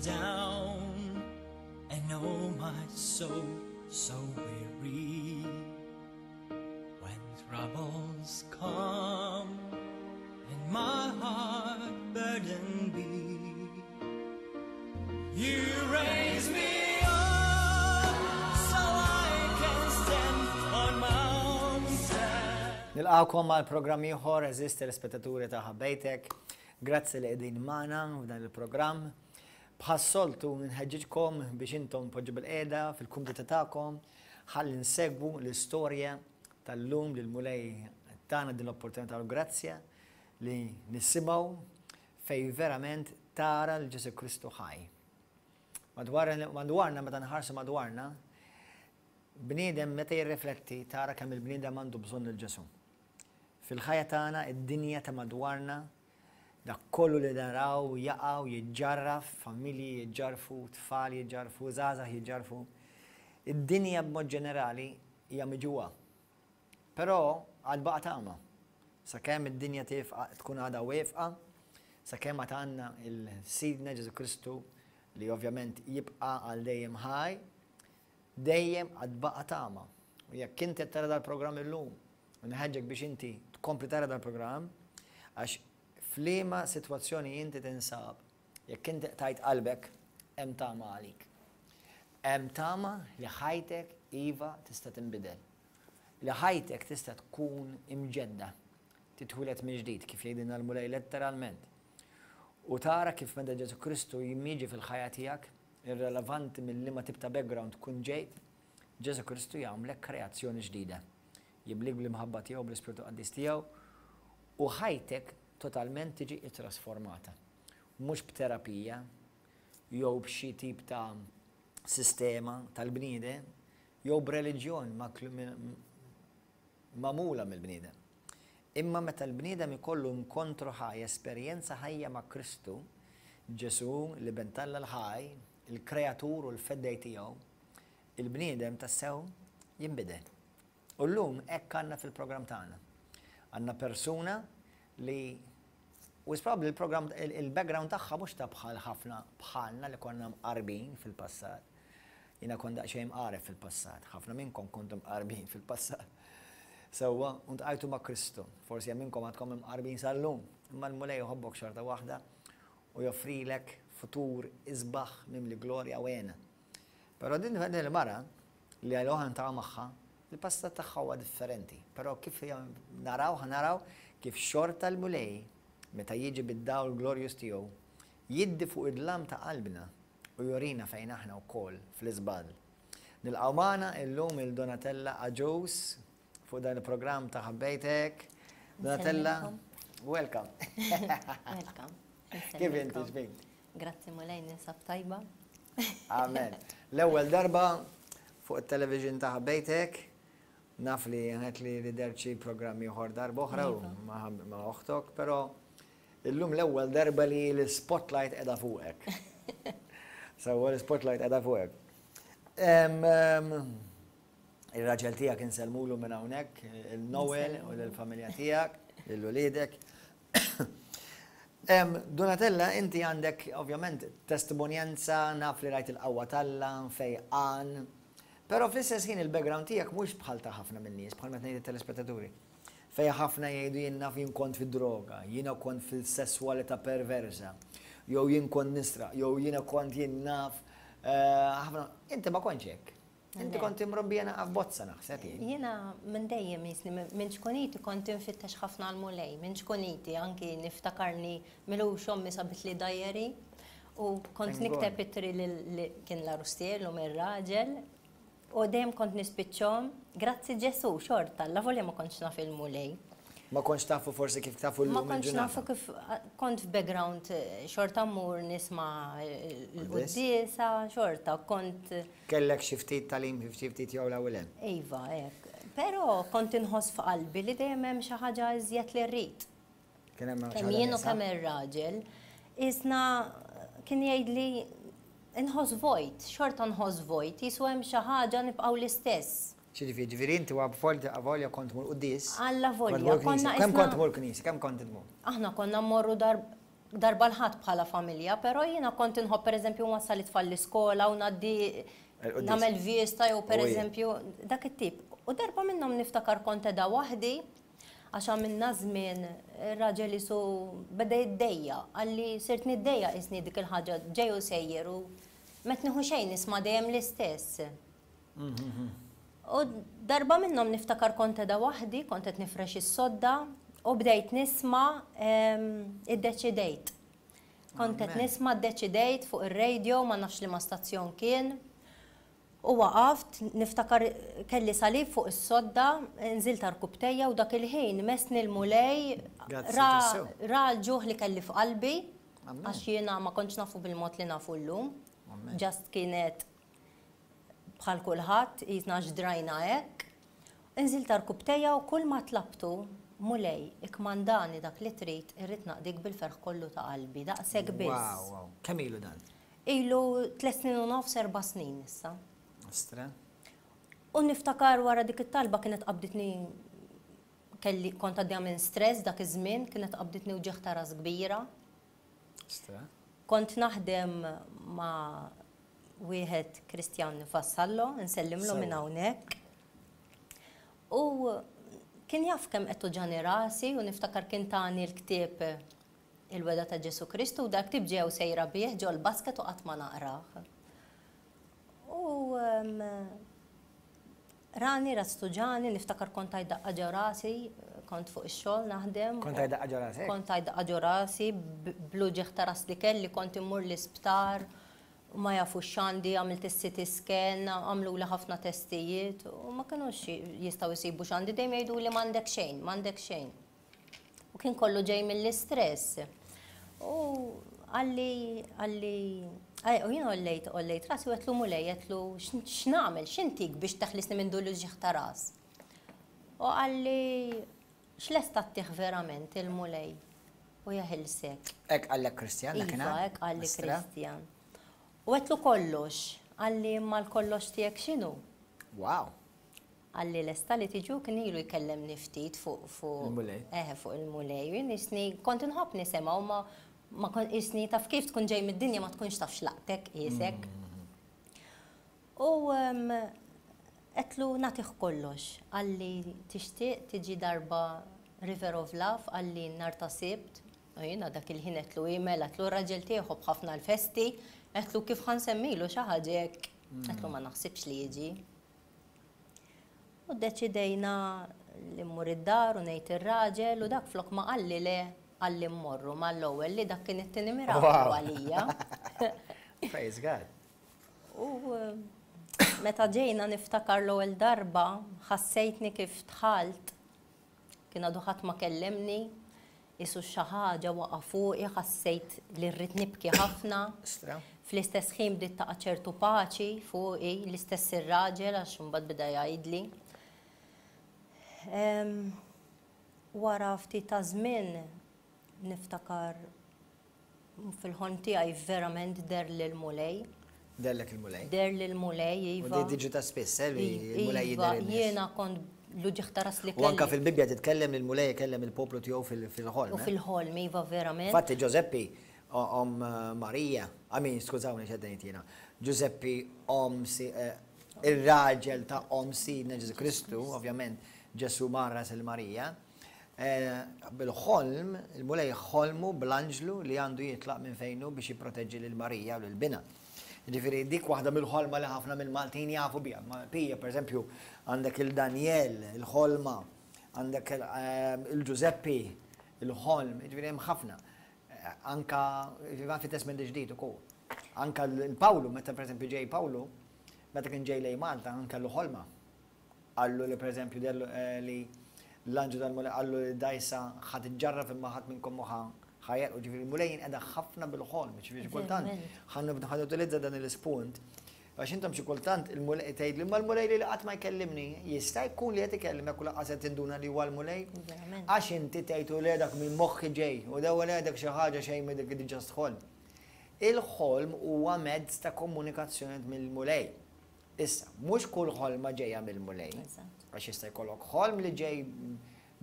down, and oh my soul so weary. When troubles come and my heart burdened be, you raise me up so I can stand on mountains. Nilqgħukom għal programm ieħor, għeżież telespettaturi ta' Ħabbejtek. Grazzi li qegħdin magħna f'dan il-programm. Bħas-soltu nħeġġiġkom biex intom poġġu bil-qiegħda fil-kumdità tagħkom ħalli nsegwu l-istorja tal-lum li l-Mulej tana din l-opportunità u l-grazzja li nisimgħu fejn verament tara 'l Ġesù Kristu ħaj. Madwarna, meta nħarsu madwarna, bniedem meta jirrifletti tara kemm il-bniedem għandu bżonn lil Ġesù. Fil-ħajja tagħna, id-dinja ta' madwarna, dak kollu li naraw jaqa' u jiġġarraf, familji jiġġarrfu, tfal jiġġarrfu, żgħażagħ jiġġarrfu. Id-dinja b'mod ġenerali hija miġugħa. Però għad baqa' tama. Sakemm id-dinja tiefqa tkun għadha wieqfa, sakemm għad għandna 'l Sidna Ġesù Kristu li ovvjament jibqa' għal dejjem ħaj, dejjem għad baqa' tama. U jekk inti qed tara dal-programm illum, inħeġġek biex inti tkompli tara dal-programm, għax f'liema sitwazzjoni inti tinsab, jekk inti qtajt qalbek, hemm tama għalik. Hemm tama li ħajtek iva tista' tinbidel. Li ħajtek tista' tkun imġedda, titwieled mill-ġdid, kif jgħidilna l-Mulej letteralment. U tara kif meta Ġesù Kristu jiġi fil-ħajja tiegħek, irrelevanti minn liema tip ta' background tkun ġejt, Ġesù Kristu jagħmlek kreazzjoni ġdida. Jimlik bl-imħabba tiegħu, bl-Ispirtu Qaddis tiegħu, u ħajtek totalment tiġi ttrasformata. Mhux b'terapija jew b'xi tip ta' sistema tal-bniedem jew b'reliġjon magħmula mill-bniedem. Imma meta l-bniedem ikollu inkontru ħaj, esperjenza ħajja ma' Kristu, Ġesù, l-Iben t'Alla l-ħaj, il-Kreatur u l-Feddej tiegħu, il-bniedem tassew jinbidel. U llum hekk għandna fil-programm tagħna. Għandna persuna li wisq probabbli l-programm il-background tagħha mhux ta' bħal ħafna bħalna li konna mqarbin fil-passat. Jiena kont daqsxejn mqareb fil-passat, ħafna minnkom kontu mqarbin fil-passat. Sewwa, u ntqajtu ma' Kristu. Forsi hemm minnkom għadkom imqarbin sal-lum, imma l-Mulej iħobbok xorta waħda u joffrilek futur isbaħ mimli glorja u hena. Però din il-mara li għal oħra niltaqgħu magħha, il-passat tagħha huwa differenti. Però kif naraw ħa naraw kif xorta l-Mulej meta jiġi bid-dawl glorjuż tiegħu jiddi fuq id-dlam ta' qalbna u jurina fejn aħna wkoll fl-iżball. Nilqgħu magħna illum il Donatella Agius fuq dan il-programm ta' Ħabbejtek. Donatella, welcome. Welcome. Kif inti xbik? Grazzi Mulej ninsab tajba. Amen. L-ewwel darba fuq it-television ta' Ħabbejtek, naf li għedt li li dert xi programm ieħor darba oħra u iva. ma' oħtok, però illum l-ewwel darba li l-spotlight qiegħda fuqek. Sewwa l-spotlight qiegħda fuqek. Ir-raġel tiegħek insellmulu minn hawnhekk, il-Noel u lill-familja tiegħek, lil uliedek. Donatella, inti għandek ovvjament testimonjanza, naf li rajt il-qawwa t'Alla, fejqan, però fl-istess ħin il-background tiegħek mhux bħal ta' ħafna min-nies, bħal meta ngħid it-telespettaturi. Fejn ħafna jgħidu jien naf jien kont fid-droga, jiena kont fil-sesswalità perversa, jew jien kont nisraq, jew jiena kont jien naf ħafna. Inti ma kontx hekk. Inti kont imrobbija naqa' f'bozza naħseb jien. Jiena minn dejjem jisni minn ċkuniti kont infittex ħafna l-Mulej, minn ċkuniti anki niftakarni milux ommi sabitli diary u kont nikteb ittri lil kien l-għarus tiegħi llum ir-raġel u dejjem kont nispiċċhom grazzi Ġesù xorta allavolja ma kontx naf il-Mulej. Ma kontx tafu forsi kif tafu llum il-ġurnata. Ma kontx nafu kif kont f'background xorta mmur nisma' l-quddiesa, xorta kont. Kellek xi ftit tagħlim xi ftit jew 'l hawn u 'l hemm? Iva, hekk. Però kont inħoss f'qalbi li dejjem hemm xi ħaġa iżjed li rrid. Kien hemm xi ħaġa Kemm jien u kemm ir-raġel, qisna kien jgħidli inħoss vojt, xorta nħoss vojt, qisu hemm xi ħaġa nibqgħu l-istess. X'jiġifieri? Ġifieri inti avolja kont tmur quddies? Allavolja, konna Kemm kont tmur knisja? Kemm kont tmur? Aħna konna mmorru darba. Darba l-Ħadd bħala familja, però jiena kont inħobb pereżempju nwassal it-tfal l-iskola u ngħaddi nagħmel vista jew pereżempju dak it-tip. U darba minnhom niftakar kont qiegħda waħdi għax għamilna żmien ir-raġel isu beda jiddejjaq, qalli sirt niddejjaq qisni dik il-ħaġa ġej u sejjer u m'qed nieħu xejn nisma' dejjem l-istess. U darba minnhom niftakar kont qiegħda waħdi, kont qed nifrex is-sodda u bdejt nisma' iddeċidejt. Kont qed nisma' ddeċidejt fuq ir-radio, ma nafx liema stazzjon kien. U waqaft, niftakar kelli salib fuq is-sodda, nżilt għarkupptejja u dak il-ħin messni l-Mulej ra ra l-ġuħ li kelli f'qalbi, għax jiena ma kontx nafu bil-mod li nafu llum. Just kienet Bħal kulħadd, qisna għax drajna hekk. Inżilt għarkupptejja u kulma tlabtu, Mulej, ikkmandani dak li trid, irrid naqdik bil-ferħ kollu ta' qalbi. Daqshekk biss. Wow, wow. Kemm ilu dan? Ilu tlett snin u nofs, erba' snin issa. Ostra. U niftakar wara dik it-talba kienet qabditni kelli kont għaddejja minn stress dak iż-żmien, kienet qabditni wġigħ ta' ras kbira. Ostra. Kont naħdem ma' wieħed Kristjan Vassallo, nsellimlu minn hawnhekk. U kien jaf kemm qed tuġani rasi u niftakar kien tani l-ktieb Il-Wegħda ta' Ġesù Kristu u dal-ktieb ġew sejra bih ġol-basket u qatt ma naqrah. U Rani, ras tuġagħni, niftakar kont għid daqqa ġo rasi, kont fuq ix-xogħol naħdem. Kont għid daqqa ġo rasek? Kont għid daqqa ġo rasi, bl-uġigħ ta' ras li kelli, kont immur l-isptar, u ma jafux x'għandi, għamilt is-CT scan, għamluli ħafna testijiet, u ma kinux jistgħu jsibu x'għandi, dejjem jgħiduli m'għandek xejn, m'għandek xejn. U kien kollu ġej mill-istress. U qalli, qalli, u jien għollejt, għollejt rasi u għedtlu Mulej, għedtlu x'nagħmel, x'intik biex teħlisni minn dul uġigħ ta' ras. U qalli x'lesta ttih verament il-Mulej u jeħilsek. Hekk qallek Kristjan dakinhar? Iva, hekk qalli Kristjan. U għedtlu kollox, qalli imma l-kollox tiegħek x'inhu? Wow! Qalli lesta li tiġi u kien ilu jkellemni ftit fuq fuq Il-Mulej. Eħe fuq il-Mulej. U jien qisni kont inħobb nisimgħu ma ma kont qisni taf kif tkun ġej mid-dinja ma tkunx taf x'laqtek qiesek. U għedtlu nagħtih kollox. Qalli tixtieq tiġi darba River of Love qalli nhar ta' Sibt. U jiena dak il-ħin għedtlu hi mela għedtlu r-raġel tiegħi jħobb ħafna l-festi. Għedtlu kif ħa nsemmilu xi ħaġa hekk. Għedtlu ma naħsibx li jiġi. U ddeċidejna li mmur id-dar u ngħid ir-raġel u dak flok ma qalli le, qalli mmorru mal-ewwel li dak kien it-tieni miraklu għalija. Praise God. U meta ġejna niftakar l-ewwel darba ħassejtni kif dħalt Kien għadu ħadd ma kellimni, qisu xi ħaġa waqa' fuqi, ħassejt li rrid nibki ħafna. Fl-istess ħin bdiet taqa' ċertu paċi fuqi, l-istess ir-raġel għax imbagħad beda jgħidli. Wara ftit ta' żmien niftakar Fil-ħolm tiegħi verament deherli l-Mulej. Deherlek il-Mulej? Deherli l-Mulej, iva. U di tiġi ta' spiss, eh, li l-Mulej jidher lin-nies. Iva, jiena kont l-uġigħ ta' ras li kelli. U anke fil-Bibbja titkellem li l-Mulej ikellem il-poplu tiegħu fil-ħolm. U fil-ħolm, iva, verament. Infatti Ġużeppi, omm Marija, I mean, skużawni x'qed ngħid jiena, Ġużeppi omm ir-raġel ta' omm Sidna Ġesù Kristu, ovvjament Ġesù mgħarras lil Marija, Bil-ħolm, il-Mulej ħolmu bl-anġlu li għandu jitlaq minn fejn hu biex jipproteġġi lil Marija u lil binha. Jiġifieri dik waħda mill-ħolma li ħafna mill-Maltin jafu biha. Pija, pereżempju, għandek il Danjel, il-ħolma, għandek il-Ġużeppi, il-ħolm, jiġifieri hemm ħafna. Anka fit-Testment il-Ġdid ukoll. Anka l-Pawlu, meta pereżempju ġej Pawlu, meta kien ġej lejn Malta, anke kellu ħolma. Qallu li pereżempju deherlu li l-anġlu tal-Mulej qallu li d-dgħajsa ħa tiġġarraf imma ħadd minnkom mhu ħa ħa jegħrqu. Ġifieri l-Mulej jinqeda ħafna bil-ħolm, ġifieri xi kultant ħa ħa nutilizza dan l-ispunt għax intom xi kultant il-Mulej tgħidli imma l-Mulej lili qatt ma jkellimni. Jista' jkun li qed ikellimek u lanqas qed tinduna li huwa l-Mulej? Għax inti tgħid u le dak minn moħħi ġej u le le dak xi ħaġa xejn minn dik just ħolm. Il-ħolm huwa mezz ta' komunikazzjoni mill-Mulej. Issa, mhux kull ħolma ġejja mill-Mulej. Għax jista' jkollok ħolm li ġej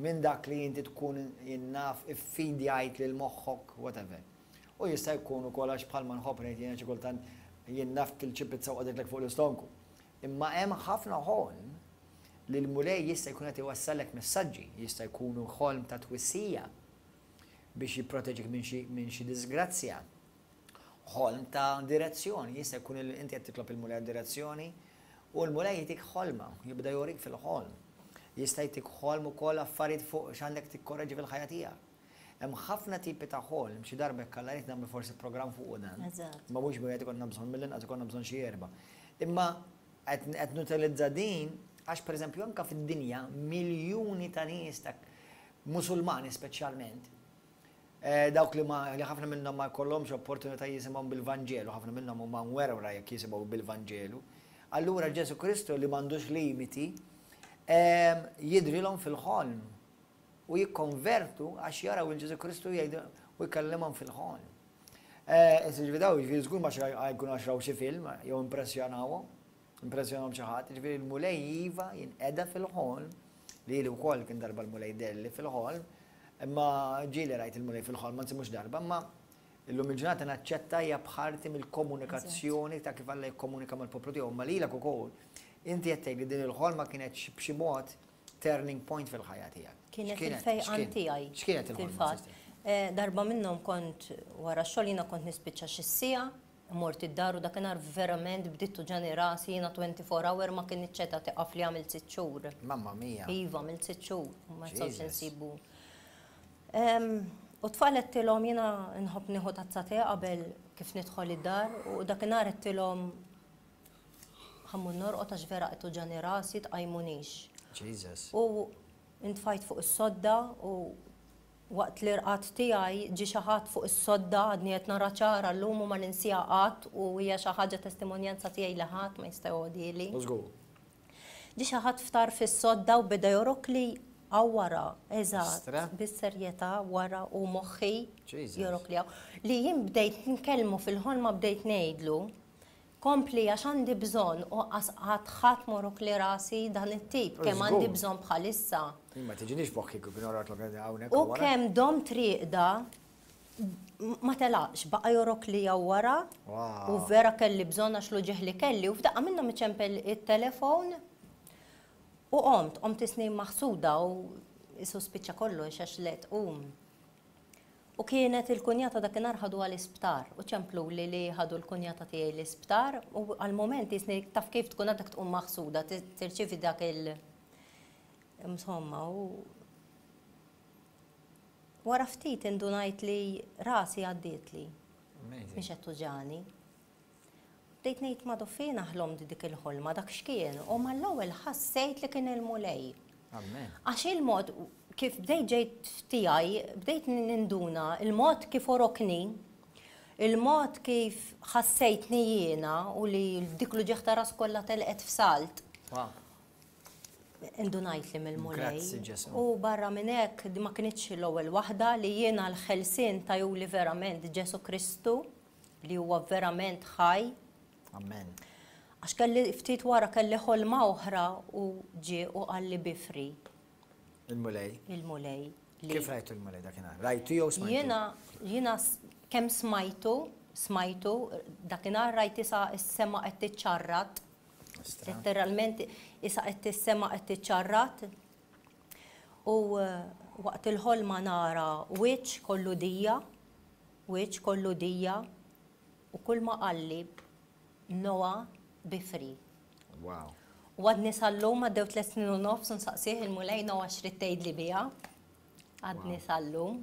minn dak li inti tkun jien naf iffidjajt lil moħħok, whatever. U jista' jkun ukoll għax bħalma nħobb ngħid jiena xi kultant jien naf kilt xi pizza u qogħditlek fuq l-istonku. Imma hemm ħafna ħolm li l-Mulej jista' jkun qed iwassallek messaġġi, jista' jkunu ħolm ta' twissija biex jipproteġik minn xi minn xi diżgrazzja. Ħolm ta' direzzjoni, jista' jkun li inti qed titlob il-Mulej għad-direzzjoni u l-Mulej jtik ħolma, jibda jurik fil-ħolm. Jista' jtik ħolm ukoll affarijiet fuq x'għandek tikkorreġi fil-ħajja tiegħek. Hemm ħafna tipi ta' ħolm, xi darba jekk Alla jrid nagħmlu forsi programm fuqu dan. Ma mhux wieħed ikollna bżonn mill-inqas ikollna bżonn xi erba'. Imma qed nutilizza din għax pereżempju anke fid-dinja miljuni ta' nies ta' Musulmani speċjalment, dawk li ma li ħafna minnhom ma jkollhomx opportunità jisimgħu bil-Vanġelu, ħafna minnhom huma mwerwra jekk jisimgħu bil-Vanġelu. Allura Ġesù Kristu li m'għandux limiti jidhrilhom fil-ħolm u jikkonvertu għax jaraw il Ġesù Kristu jgħidu u jkellimhom fil-ħolm. Ġifieri daw, ġifieri żgur ma jkunu għax raw xi film jew impressjonawhom, impressjonahom xi ħadd, ġifieri l-Mulej iva jinqeda fil-ħolm, lili wkoll kien darba l-Mulej deherli fil-ħolm, imma ġieli rajt il-Mulej fil-ħolm, anzi mhux darba, imma illum il-ġurnata naċċetta hija parti mill-komunikazzjoni ta' kif Alla jikkomunika mal-poplu tiegħu, imma lilek ukoll inti qed tgħid li din il-ħolma kienet b'xi mod turning point fil-ħajja tiegħek. Kienet il-fejqan tiegħi. X'kienet il-ħolma? Darba minnhom kont wara x-xogħol jiena kont nispiċċa xi siegħa, mort id-dar u dakinhar verament bdiet tuġani rasi jiena 24 hour ma kinitx qiegħda tieqaf li għamilt sitt xhur. Mamma mia. Iva, għamilt sitt xhur, ma nistgħux insibu. U t-tfal għedtilhom jiena nħobb nieħu tazza te qabel kif nidħol id-dar u dakinhar għedtilhom Ħa mmur norqod għax vera qed tuġani rasi tqajmunix. Jesus. U intfajt fuq is-sodda u waqt l-irqad tiegħi ġie xi ħadd fuq is-sodda għadni qed nara ċara llum u ma ninsiha qatt u hija xi ħaġa testimonjanza tiegħi li ħadd ma jista' jgħodhieli. Żgur. Ġie xi ħadd f'tarf is-sodda u beda jorokli hawn wara, eżatt, bis-serjetà wara u moħħi jorokli hawn. Li jien bdejt nkellmu fil-ħolma bdejt ngħidlu Kompli għax għandi bżonn u qas qatt ħadd morokli rasi dan it-tip kemm għandi bżonn bħalissa. Jien ma tiġinix f'moħħi kieku kien orotlok hawnhekk u wara. U kemm domt rieqda ma telaqx, baqa' jorokli hawn wara u vera kelli bżonn għax l-uġigħ li kelli u f'daqqa minnhom iċempel it-telefon u qomt, qomt isni maħsuda u qisu spiċċa kollox għax le tqum. U kienet il-kunjata dakinhar ħaduha l-isptar u ċempluli li ħadu l-kunjata tiegħi l-isptar u għall-mument jisni taf kif tkun għadek tqum maħsuda tirċievi dak il insomma u wara ftit indunajt li rasi għaddietli. Mhix qed tuġani. Bdejt ngħid Madoffi jiena ħlomt dik il-ħolma, dak x'kien? U mal-ewwel ħassejt li kien il-Mulej. Amen. Għax il-mod kif bdejt ġejt f'tiegħi, bdejt ninduna il-mod kif orokni, il-mod kif ħassejtni jiena u li dik l-uġigħ ta' ras kollha telqet f'salt. Indunajt li mill-Mulej. Grazzi Ġesù. U barra minn hekk di ma kinitx l-ewwel waħda li jiena l-ħelsien tajuli verament Ġesù Kristu. Li huwa verament ħaj. Amen. Għax kelli ftit wara kelli ħolma oħra u ġie u qalli bifri. Il-Mulej. Il-Mulej. Kif rajtu l-Mulej dakinhar? Rajtu jew smajtu? Jiena jiena kemm smajtu, smajtu, dakinhar rajt isa s-sema qed tiċċarrat. Letteralment isa qed is-sema qed tiċċarrat. U waqt il-ħolma nara wiċċ kollu dija. Wiċċ kollu dija u kulma qalli Noah be free. Wow. U għadni sal-lum għaddew tlett snin u nofs u nsaqsih il-Mulej Noah x'ridt tgħidli biha. Għadni sal-lum.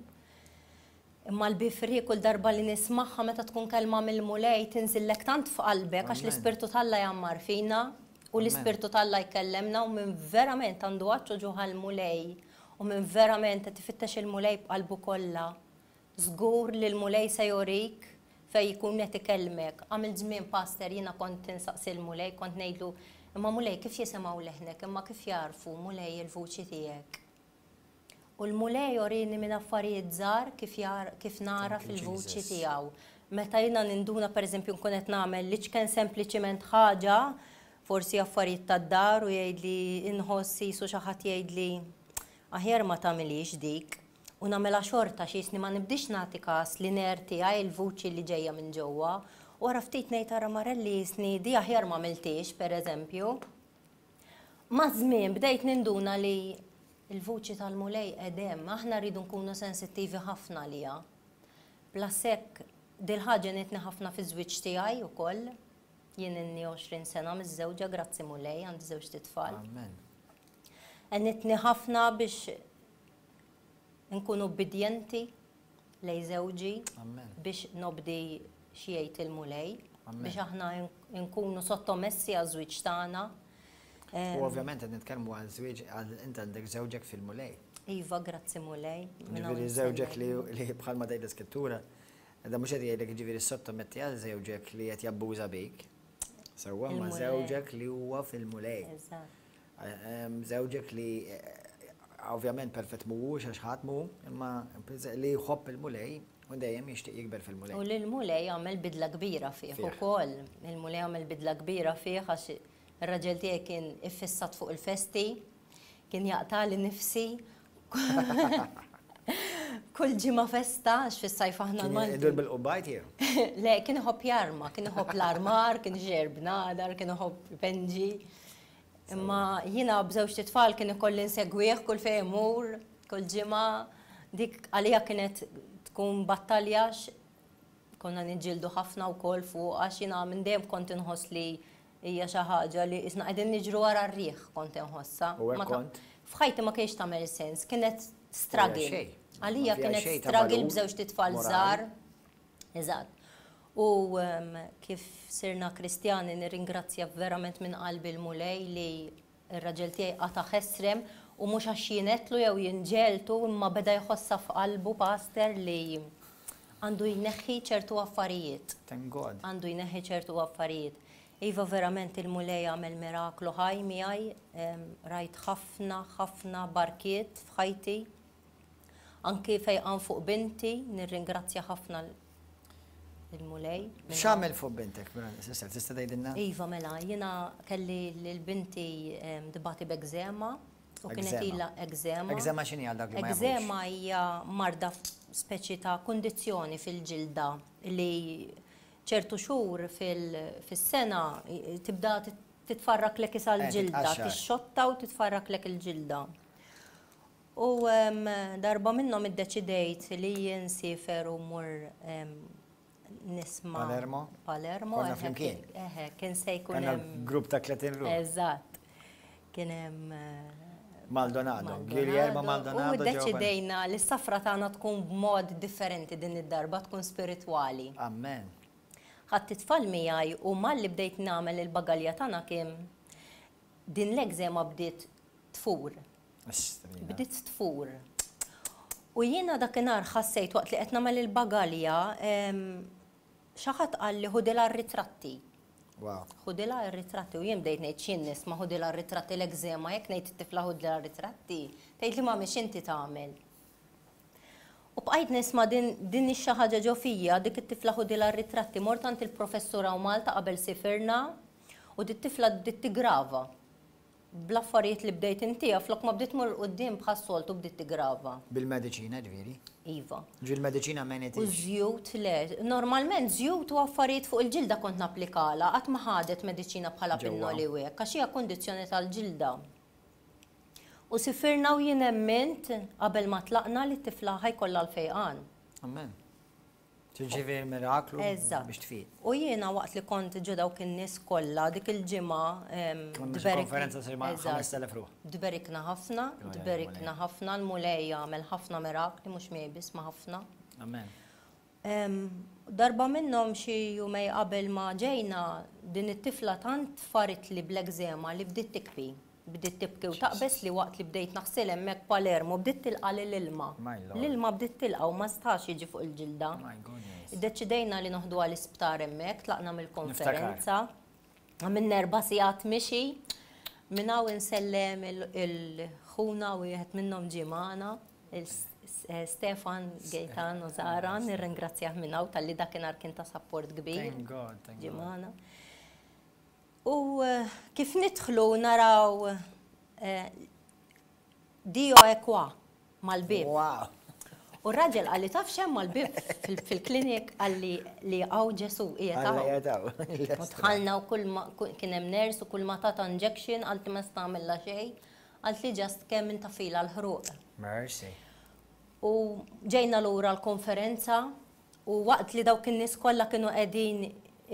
Imma l-be free kull darba li nismagħha meta tkun kelma mill-Mulej tinżillek tant f'qalbek għax l-Ispirtu t'Alla jgħammar fina u l-Ispirtu t'Alla jkellemna u min verament għandu għatx u ġuħ għall-Mulej u min verament qed ifittex il-Mulej b'qalbu kollha Żgur li l-Mulej se jurik fejn jkun qed ikellmek. Għamilt żmien pastor jiena kont insaqsi l-Mulej, kont ngħidlu, imma Mulej kif jisimgħu leħnek, imma kif jagħrfu Mulej il-vuċi tiegħek? U l-Mulej urini minn affarijiet żgħar kif kif nagħraf il-vuċi tiegħu. Meta jiena ninduna pereżempju nkun qed nagħmel l-iċken sempliċiment ħaġa, forsi affarijiet tad-dar u jgħidli inħoss qisu xi ħadd jgħidli aħjar ma tagħmilhiex dik. U nagħmilha xorta xi jisni ma nibdiex nagħti każ l-inner tiegħi, il-vuċi li ġejja minn ġewwa. U wara ftit ngħid ara Marelli jisni di aħjar m'għamiltiex, pereżempju. Maż-żmien bdejt ninduna li l-vuċi tal-Mulej qed hemm, aħna rridu nkunu sensittivi ħafna għaliha. Plus hekk, dil-ħaġa għenitni ħafna fiż-żwieġ tiegħi wkoll. Jien ilni 20 sena miżżewġa, grazzi Mulej, għandi żewġt itfal. Amen. Għenitni ħafna biex nkun ubbidjenti lejn żewġi, biex nobdi x'jgħid il-Mulej, biex aħna nkunu sottomessi għaż-żwieġ tagħna. U ovvjament qed nitkellmu għal żwieġ għal int għandek żewġek fil-Mulej. Iva, grazzi Mulej. Ġifieri żewġek li bħalma tgħid l-Iskrittura, da mhux qed jgħidlek jiġifieri ssottometti għal żewġek li qed jabbuża bik. Sewwa ma żewġek li huwa fil-Mulej. Eżatt. Żewġek li ovvjament perfett mhuwiex għax ħadd mhu, imma li jħobb il-Mulej u dejjem jixtieq jikber fil-Mulej. U li l-Mulej għamel bidla kbira fih ukoll. Il-Mulej għamel bidla kbira fih għax ir-raġel tiegħi kien iffissat fuq il-festi, kien jaqtali nifsi. Kull ġimgħa festa, għax fis-sajf aħna l-Malti. Kien idur bil-qubbajt jew? Le, kien iħobb jarma, kien iħobb l-armar, kien ixejjer bnadar, kien iħobb ipenġi. Imma jiena b'żewġt itfal kien ikolli nsegwih kull fejn imur, kull ġimgħa. Dik għalija kienet tkun battalja għax konna niġġieldu ħafna wkoll fuq għax jiena minn dejjem kont inħoss li hija xi ħaġa li qisna qegħdin niġru wara r-riħ kont inħossha. U hekk kont? F'ħajti ma kienx tagħmel sens, kienet struggle. Għalija kienet struggle b'żewġt itfal żgħar. Eżatt. U kif sirna Kristjani nirringrazzja verament minn qalbi l-Mulej li r-raġel tiegħi qata' ħesrem u mhux għax jien għedtlu jew jien ġegħeltu imma beda jħossha f'qalbu Pastor li għandu jneħħi ċertu affarijiet. Thank God. Għandu jneħħi ċertu affarijiet. Iva verament il-Mulej għamel miraklu ħaj miegħi, rajt ħafna ħafna barkiet f'ħajti. Anki fejqan fuq binti, nirringrazzja ħafna l-Mulej. X'għamel fuq bintek, sister, tista' tgħidilna? Iva, mela, jiena kelli lil binti tbati b'ekżema u kienet ilha ekżema. Ekżema x'inhi għal dawk li ma jafux? Ekżema hija marda speċi ta' kundizzjoni fil-ġilda li ċertu xhur fis-sena tibda titfarraklek isa l-ġilda, tixxotta u titfarraklek il-ġilda. U darba minnhom iddeċidejt li jien nsiefer u mmur nisma'. Palermo? Palermo. Konna flimkien. Eħe, kien se jkun hemm. Grupp ta' 30 ruħ. Eżatt. Kien hemm. Maldonado, Guillermo Maldonado. U ddeċidejna li s-safra tagħna tkun b'mod differenti din id-darba, tkun spiritwali. Amen. Ħadt it-tfal miegħi u malli bdejt nagħmel il-bagalja tagħna kien din l-ekżema bdiet tfur. Bdiet tfur. U jiena dakinhar ħassejt waqt li qed nagħmel il-bagalja, xi ħadd qalli ħudilha r-ritratti. Ħudilha r-ritratti u jien bdejt ngħid x'jien nisma' ħudilha r-ritratti l-ekżema jekk ngħid it-tifla ħudilha r-ritratti, tgħidli mami x'inti tagħmel. U bqajt nisma' din din ix-xi ħaġa ġo fija, dik it-tifla ħudilha r-ritratti. Mort għand il-professur hawn Malta qabel sifirna u dit-tifla bdiet tiggrava. Bl-affarijiet li bdejt intiha, flok ma bdiet tmur 'il quddiem bħas-soltu bdiet tiggrava. Bil-mediċina ġifieri? Iva. Ġifieri l-mediċina m'għenitix? U ż-żjut le. Normalment żjut u affarijiet fuq il-ġilda kont napplikalha, qatt ma ħadet mediċina bħala pinnoli u hekk, għax hija kundizzjoni tal-ġilda. U sifirna u jien emmint qabel ma tlaqna li t-tifla ħa jkollha l-fejqan. Amen. Tirċievi l-miraklu biex tfiq. U jiena waqt li kont ġo dawk in-nies kollha dik il-ġimgħa Konferenza sir ma' 5000 ruħ. Tberikna ħafna, tberikna ħafna, l-Mulej għamel ħafna mirakli mhux miegħi biss ma' ħafna. Amen. Darba minnhom xi jumej qabel ma ġejna din it-tifla tant faritli bl-ekżema li bdiet tikbi. Bdiet tibki u taqbeż li waqt li bdejt naħsil hemmhekk Palermo bdiet tilqa' l-ilma. L-ilma bdiet tilqa' u ma setax jiġi fuq il-ġilda. Iddeċidejna li noħduha l-isptar hemmhekk, tlaqna mill-konferenza. Għamilna erba' sigħat mixi. Minn hawn insellem il-ħuna wieħed minnhom ġie magħna, Stefan Gaetano Zara, nirringrazzjah minn hawn talli dakinhar kien ta' sapport kbir. Ġie magħna. U kif nidħlu naraw Dio è qua mal-bieb. Wow! U r-raġel qalli taf x'hemm mal-bieb fil-klinik qalli li hawn Ġesù qiegħed hawn. Alla qiegħed hawn. U dħalna u kull ma kien hemm nurse u kull ma tatha injection qaltli ma nista' nagħmilha xejn. Qaltli just kemm intafilha l-ħruq. Mercy. U ġejna lura l-konferenza u waqt li dawk in-nies kollha kienu qegħdin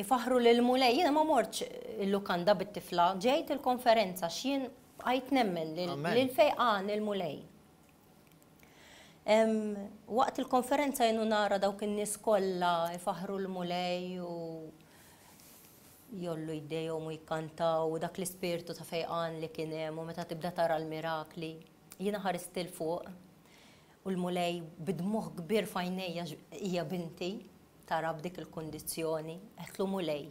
ifaħħru lill-Mulej, jiena ma mortx il-lukanda bit-tifla, ġejt il-konferenza għax jien bqajt nemmen li l-fejqan il-Mulej. Waqt il-konferenza jien u nara dawk in-nies kollha jfaħħru l-Mulej u jgħollu jdejhom u jkantaw u dak l-ispirtu ta' fejqan li kien hemm u meta tibda tara l-mirakli, jiena ħarist 'il fuq u l-Mulej bi dmugħ kbir f'għajnejja hija binti tara b'dik il-kundizzjoni, għedtlu Mulej.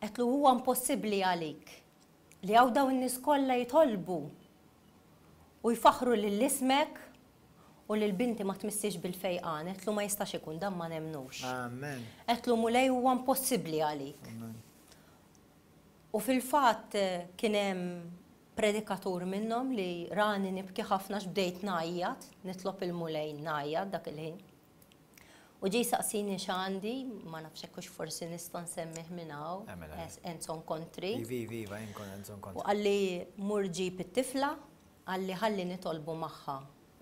Għedtlu huwa impossibbli għalik li hawn dawn in-nies kollha jitolbu u jfaħħru lil ismek u lil binti ma tmissiex bil-fejqan, għedtlu ma jistax ikun, dan ma nemmnux. Amen. Għedtlu Mulej huwa impossibbli għalik. Amen. U fil-fatt kien hemm predikatur minnhom li rani nibki ħafna x'bdejt ngħajjat, nitlob il-Mulej ngħajjat dak il-ħin. U ġie jsaqsini x'għandi, ma nafx hekk hux forsi nista' nsemmih minn hawn, Enzo Nkontri. Iva, iva, iva, jien kont Enzo Nkontri. U qalli mur ġib it-tifla, qalli ħalli nitolbu magħha.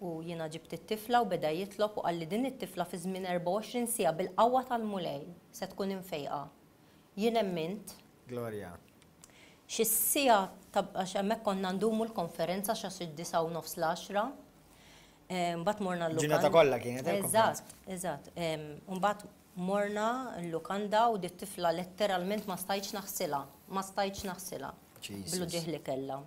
U jiena ġibt it-tifla u beda jitlob u qalli din it-tifla fi żmien 24 siegħa bil-qawwa tal-Mulej se tkun imfejqa. Jien emmint. Glorja. Xi siegħa ta' għax hemmhekk konna ndumu l-konferenza xa xi disgħa u nofs l-għaxra. Mbagħad morna l-lukanda. Ġurnata kollha kienet eh, Eżatt, eżatt. Mbagħad morna l-lukanda u dit tifla letteralment ma stajtx naħsilha, ma stajtx naħsilha. Bl-uġigħ li kellha.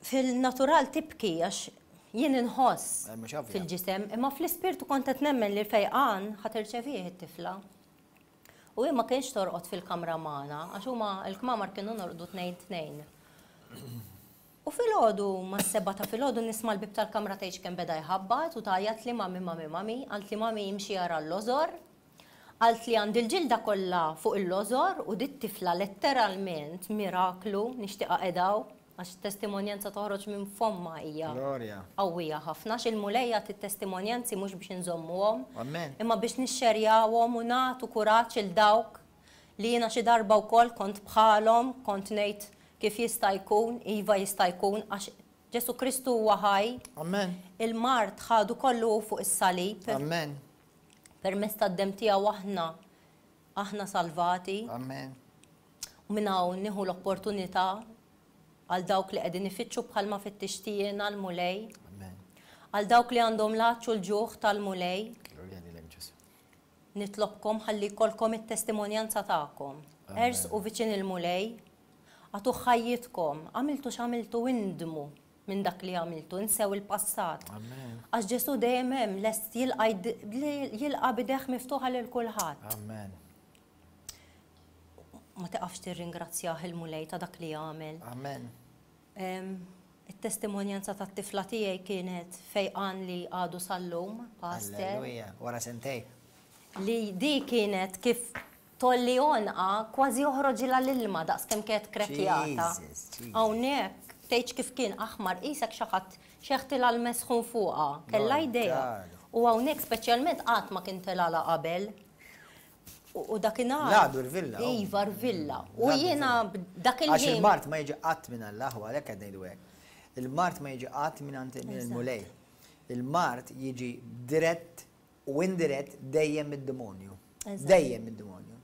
Fil-natural tibki għax jien inħoss eh, fil-ġisem, imma fl-ispirtu kont qed nemmen li l-fejqan ħa tirċevih it-tifla. U hi ma kienx torqod fil-kamra magħna, għax huma l-kmamar kienu norqdu tnejn tnejn. U filgħodu, mas-sebgħa ta' filgħodu nisma' l-bieb tal-kamra tgħidx kemm beda jħabbat u tgħajjatli mami, mami, mami. Qaltli mami imxi ara l-lożor. Qaltli għandi l-ġilda kollha fuq il-lożor u dit-tifla letteralment miraklu, nixtieqha qiegħda hawn għax it-testimonjanza toħroġ minn fommha hija qawwija ħafna għax il-Mulej jagħti t-testimonjanzi mhux biex inżommuhom imma biex nixxerjawhom u nagħtu kuraġġ 'il dawk li jiena xi darba wkoll kont bħalhom, kont ngħid kif jista' jkun, iva jista' jkun, għax Ġesù Kristu huwa ħaj. Amen. Il-mard ħadu kollu hu fuq is-salib. Amen. Permezz tad-demm tiegħu aħna aħna salvati. Amen. U minn hawn nieħu l-opportunità għal dawk li qegħdin ifittxu bħalma fittixti jiena l-Mulej. Amen. Għal dawk li għandhom l-għatx u l-ġuħ tal-Mulej. Glorja lilek Ġesù. Nitlobkom ħalli jkollkom it-testimonjanza tagħkom. Ersqu viċin il-Mulej, agħtuh ħajjitkom, għamiltu x'għamiltu indmu minn dak li għamiltu, insew il-passat. Għax Ġesù dejjem hemm lest jilqa' jilqa' b'idejh miftuħa lil kulħadd. Amen. Ma tiqafx tirringrazzjah il-Mulej ta' dak li għamel. Amen. It-testimonjanza tat-tifla tiegħi kienet fejqan li għadu sal-lum, Pastor. Alleluja, wara sentejn. Li di kienet kif tgħolli għonqha kważi joħroġilha l-ilma daqs kemm kienet krekkjata. Hawnhekk tgħidx kif kien aħmar qisek xi ħadd xeħtilha l-mesħun fuqha. Kellha idea. U hawnhekk speċjalment qatt ma kien telgħalha qabel. U dakinhar. L-għadu rvilla. Iva, rvilla. U jiena dak il-ħin. Għax il-mard ma jiġi qatt minn Alla, u għalhekk qed ngħidu hekk. Il-mard ma jiġi qatt minn għand il-Mulej. Il-mard jiġi dirett u indirett dejjem mid-demonju. Dejjem mid-demonju.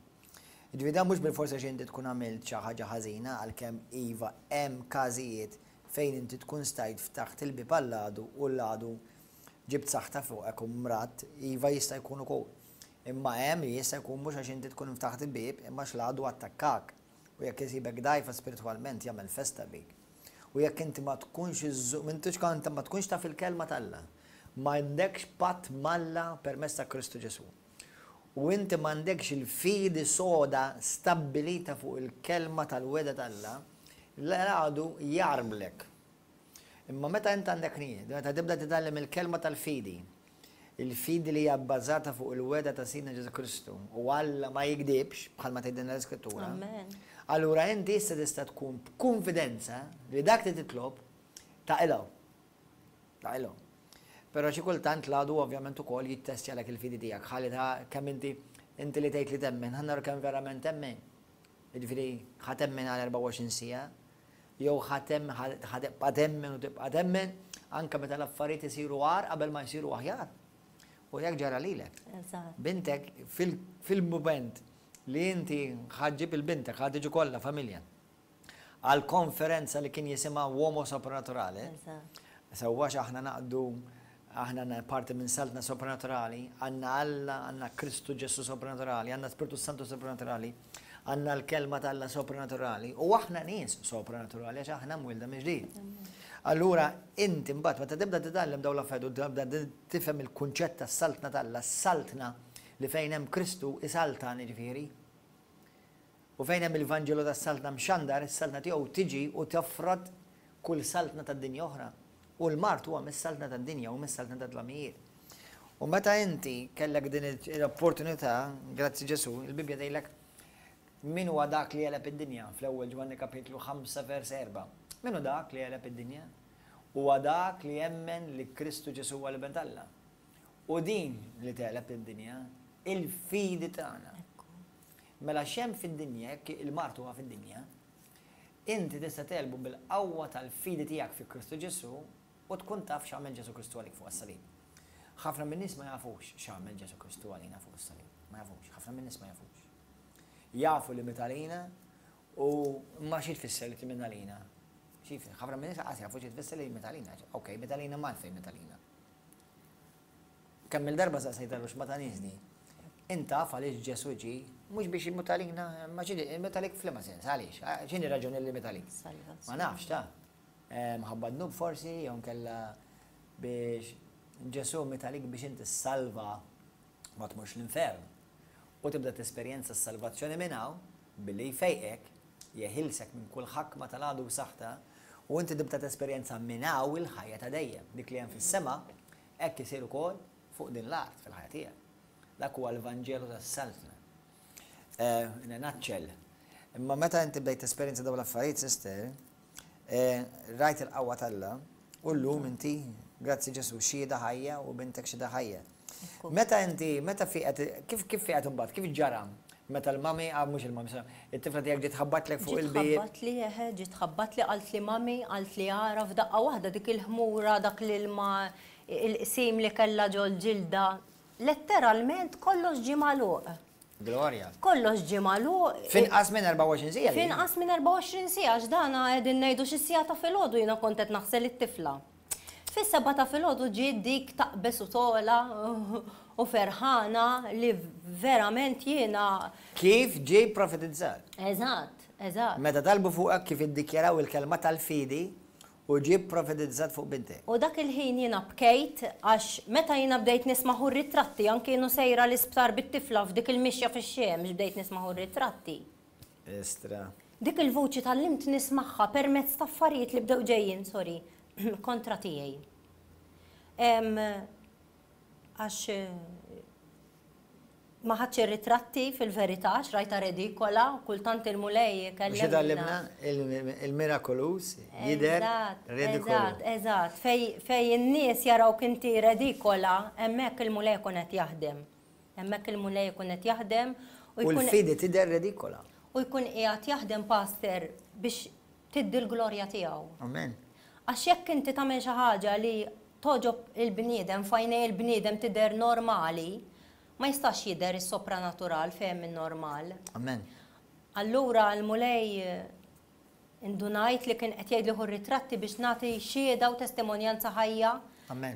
Ġifieri dan mhux bilfors għax inti tkun għamilt xi ħaġa ħażina għalkemm iva hemm każijiet fejn inti tkun stajt ftaħt il-bieb għall-għadu u l-għadu ġibt saħta fuqek u mradt, iva jista' jkun ukoll. Imma hemm li jista' jkun mhux għax inti tkun ftaħt il-bieb, imma għax l-għadu attakkak. U jekk isibek dgħajfa spiritwalment jagħmel festa bik. U jekk inti ma tkunx iżżomm, m'intix inti ma tkunx taf il-kelma t'Alla, m'għandekx patt m'Alla permezz ta' Kristu Ġesù. U inti m'għandekx il-fidi soda stabbilita fuq il-kelma tal-wegħda t'Alla, l-għadu jgħarblek. Imma meta int għandek nijiet, meta tibda titgħallem il-kelma tal-fidi, il-fidi li hija bbażata fuq il-wegħda ta' Sidna Ġesù Kristu, u Alla ma jigdibx, bħalma tgħidilna l-Iskrittura, allura inti issa tista' tkun b'kunfidenza li dak li titlob taqilgħu. Taqilgħu. Però xi kultant l-għadu ovvjament ukoll jittestjalek il-fidi tiegħek ħalli ta' kemm inti inti li tgħid li temmen, ħa naraw kemm verament temmen. Jiġifieri ħa temmen għal 24 siegħa jew ħa tem ħa tibqa' temmen u tibqa' temmen anke meta l-affarijiet isiru agħar qabel ma jsiru aħjar. U hekk ġara lilek. Bintek fil-mument li inti ħa ġġib il-bintek, ħa tiġu kollha familja għal konferenza li kien jisimha Uomo Sopranaturale. Sewwa aħna naqdu aħna għandna parti minn saltna sopranaturali, għandna Alla, għandna Kristu Ġesù sopranaturali, għandna Spirtu Santu sopranaturali, għandna l-kelma t'Alla sopranaturali, u aħna nies sopranaturali għax aħna mwielda mill-ġdid. Allura inti mbagħad meta tibda titgħallem dawn l-affarijiet u tibda tifhem il-kunċett tas-saltna t'Alla, s-saltna li fejn hemm Kristu isaltan jiġifieri, u fejn hemm il-Vanġelu tas-Saltna mxandar, is-saltna tiegħu tiġi u tofrod kull saltna tad-dinja oħra. U l-mard huwa mis-saltna tad-dinja u mis-saltna tad-dlamijiet. U meta inti kellek din l-opportunità, grazzi Ġesù, il-Bibbja tgħidlek min huwa dak li għeleb id-dinja fl-ewwel Ġwanni kapitlu 5 vers 4. Min hu dak li għeleb id-dinja? Huwa dak li jemmen li Kristu Ġesù huwa l-Iben t'Alla. U din li tegħleb id-dinja, il-fidi tagħna. Mela x'hemm fid-dinja, jekk il-mard huwa fid-dinja, Inti tista' tegħlbu bil-qawwa tal-fidi tiegħek fi Kristu Ġesù u tkun taf x'għamel Ġesù Kristu għalik fuq is-salib. Ħafna min-nies ma jafux x'għamel Ġesù Kristu għalina fuq is-salib. Ma jafux, ħafna min-nies ma jafux. Jafu li miet għalina u ma xi tfisser li miet għalina. Xi ħafna min-nies qas jafu xi tfisser li miet għalina. Okej, miet għalina ma għalfejn miet għalina. Kemm-il darba saqsejtha x'ma tagħniex di. Int taf għaliex Ġesù ġie, mhux biex imut għalina, imma xi imut għalik f'liema sens, għaliex? X'inhi r-raġuni li miet għalik? Ma nafx ta. Mħabba dnub forsi, jew inkella biex Ġesù miet għalik biex inti ssalva ma tmurx l-infern. U tibda tesperjenza s-salvazzjoni minn hawn billi jfejqek, jeħilsek minn kull ħakma tal-għadu u saħta, u inti tibda tesperjenza minn hawn il-ħajja ta' dejjem, dik li hemm fis-sema Hekk isir ukoll fuq din l-art fil-ħajja tiegħek. Dak huwa l-Vanġelu tas-Saltna. In a nutshell. Imma meta inti bdejt tesperjenza dawn l-affarijiet, sister, rajt il-qawwa t'Alla u llum inti, grazzi Ġesù, xhieda ħajja u bintek xhieda ħajja. Meta inti, meta fieqet, kif kif fieqet imbagħad, kif ġara? Meta l-mami, ah mhux il-mami, sorry, it-tifla tiegħek ġiet ħabbatlek fuq il-bieb. Ġiet ħabbatli, eħe, ġiet ħabbatli, qaltli mami, qaltli ara f'daqqa waħda dik il-ħmura, dak l-ilma, il-qsim li kellha ġol-ġilda, letteralment kollox ġie magħluq. Glorja. Kollox ġie magħluq. F'inqas minn 24 siegħa. F'inqas minn 24 siegħa, għax dana qegħdin ngħidu xi siegħa ta' filgħodu jiena kont qed naħsel it-tifla. Fis-sebgħa ta' filgħodu ġiet dik taqbeż u togħla u ferħana li verament jiena. Kif ġie pprofetizzat. Eżatt, eżatt. Meta talbu fuqek kif iddikjaraw il-kelma tal-fidi u ġie pprofetizzat fuq bintek. U dak il-ħin jiena bkejt għax meta jiena bdejt nisma' hu r-ritratti anki kienu sejra l-isptar bit-tifla f'dik il-mixja fix-xemx bdejt nisma' hu r-ritratti. Istra. Dik il-vuċi tgħallimt nismagħha permezz ta' affarijiet li bdew ġejjin, sorry, kontra tiegħi. Għax ma ħadx ir-ritratti fil-verità, għax rajtha redikola, kultant il-Mulej ikellimna. Xi tgħallimna? Il-mirakoluż jidher redikolu. Eżatt, eżatt. Fejn in-nies jarawk inti redikola, hemmhekk il-Mulej ikun qed jaħdem. Hemmhekk il-Mulej ikun qed jaħdem u jkun. U l-fidi tidher redikola. U jkun qiegħed jaħdem Pastor biex tiddi l-glorja tiegħu. Amen. Għax jekk inti tagħmel xi ħaġa li togħġob il-bniedem, f'għajnej il-bniedem tidher normali, ma jistax jidher is-sopranatural fejn hemm in-normal. Amen. Allura l-Mulej indunajt li kien qed jgħidli ħu r-ritratti biex nagħti xhieda u testimonjanza ħajja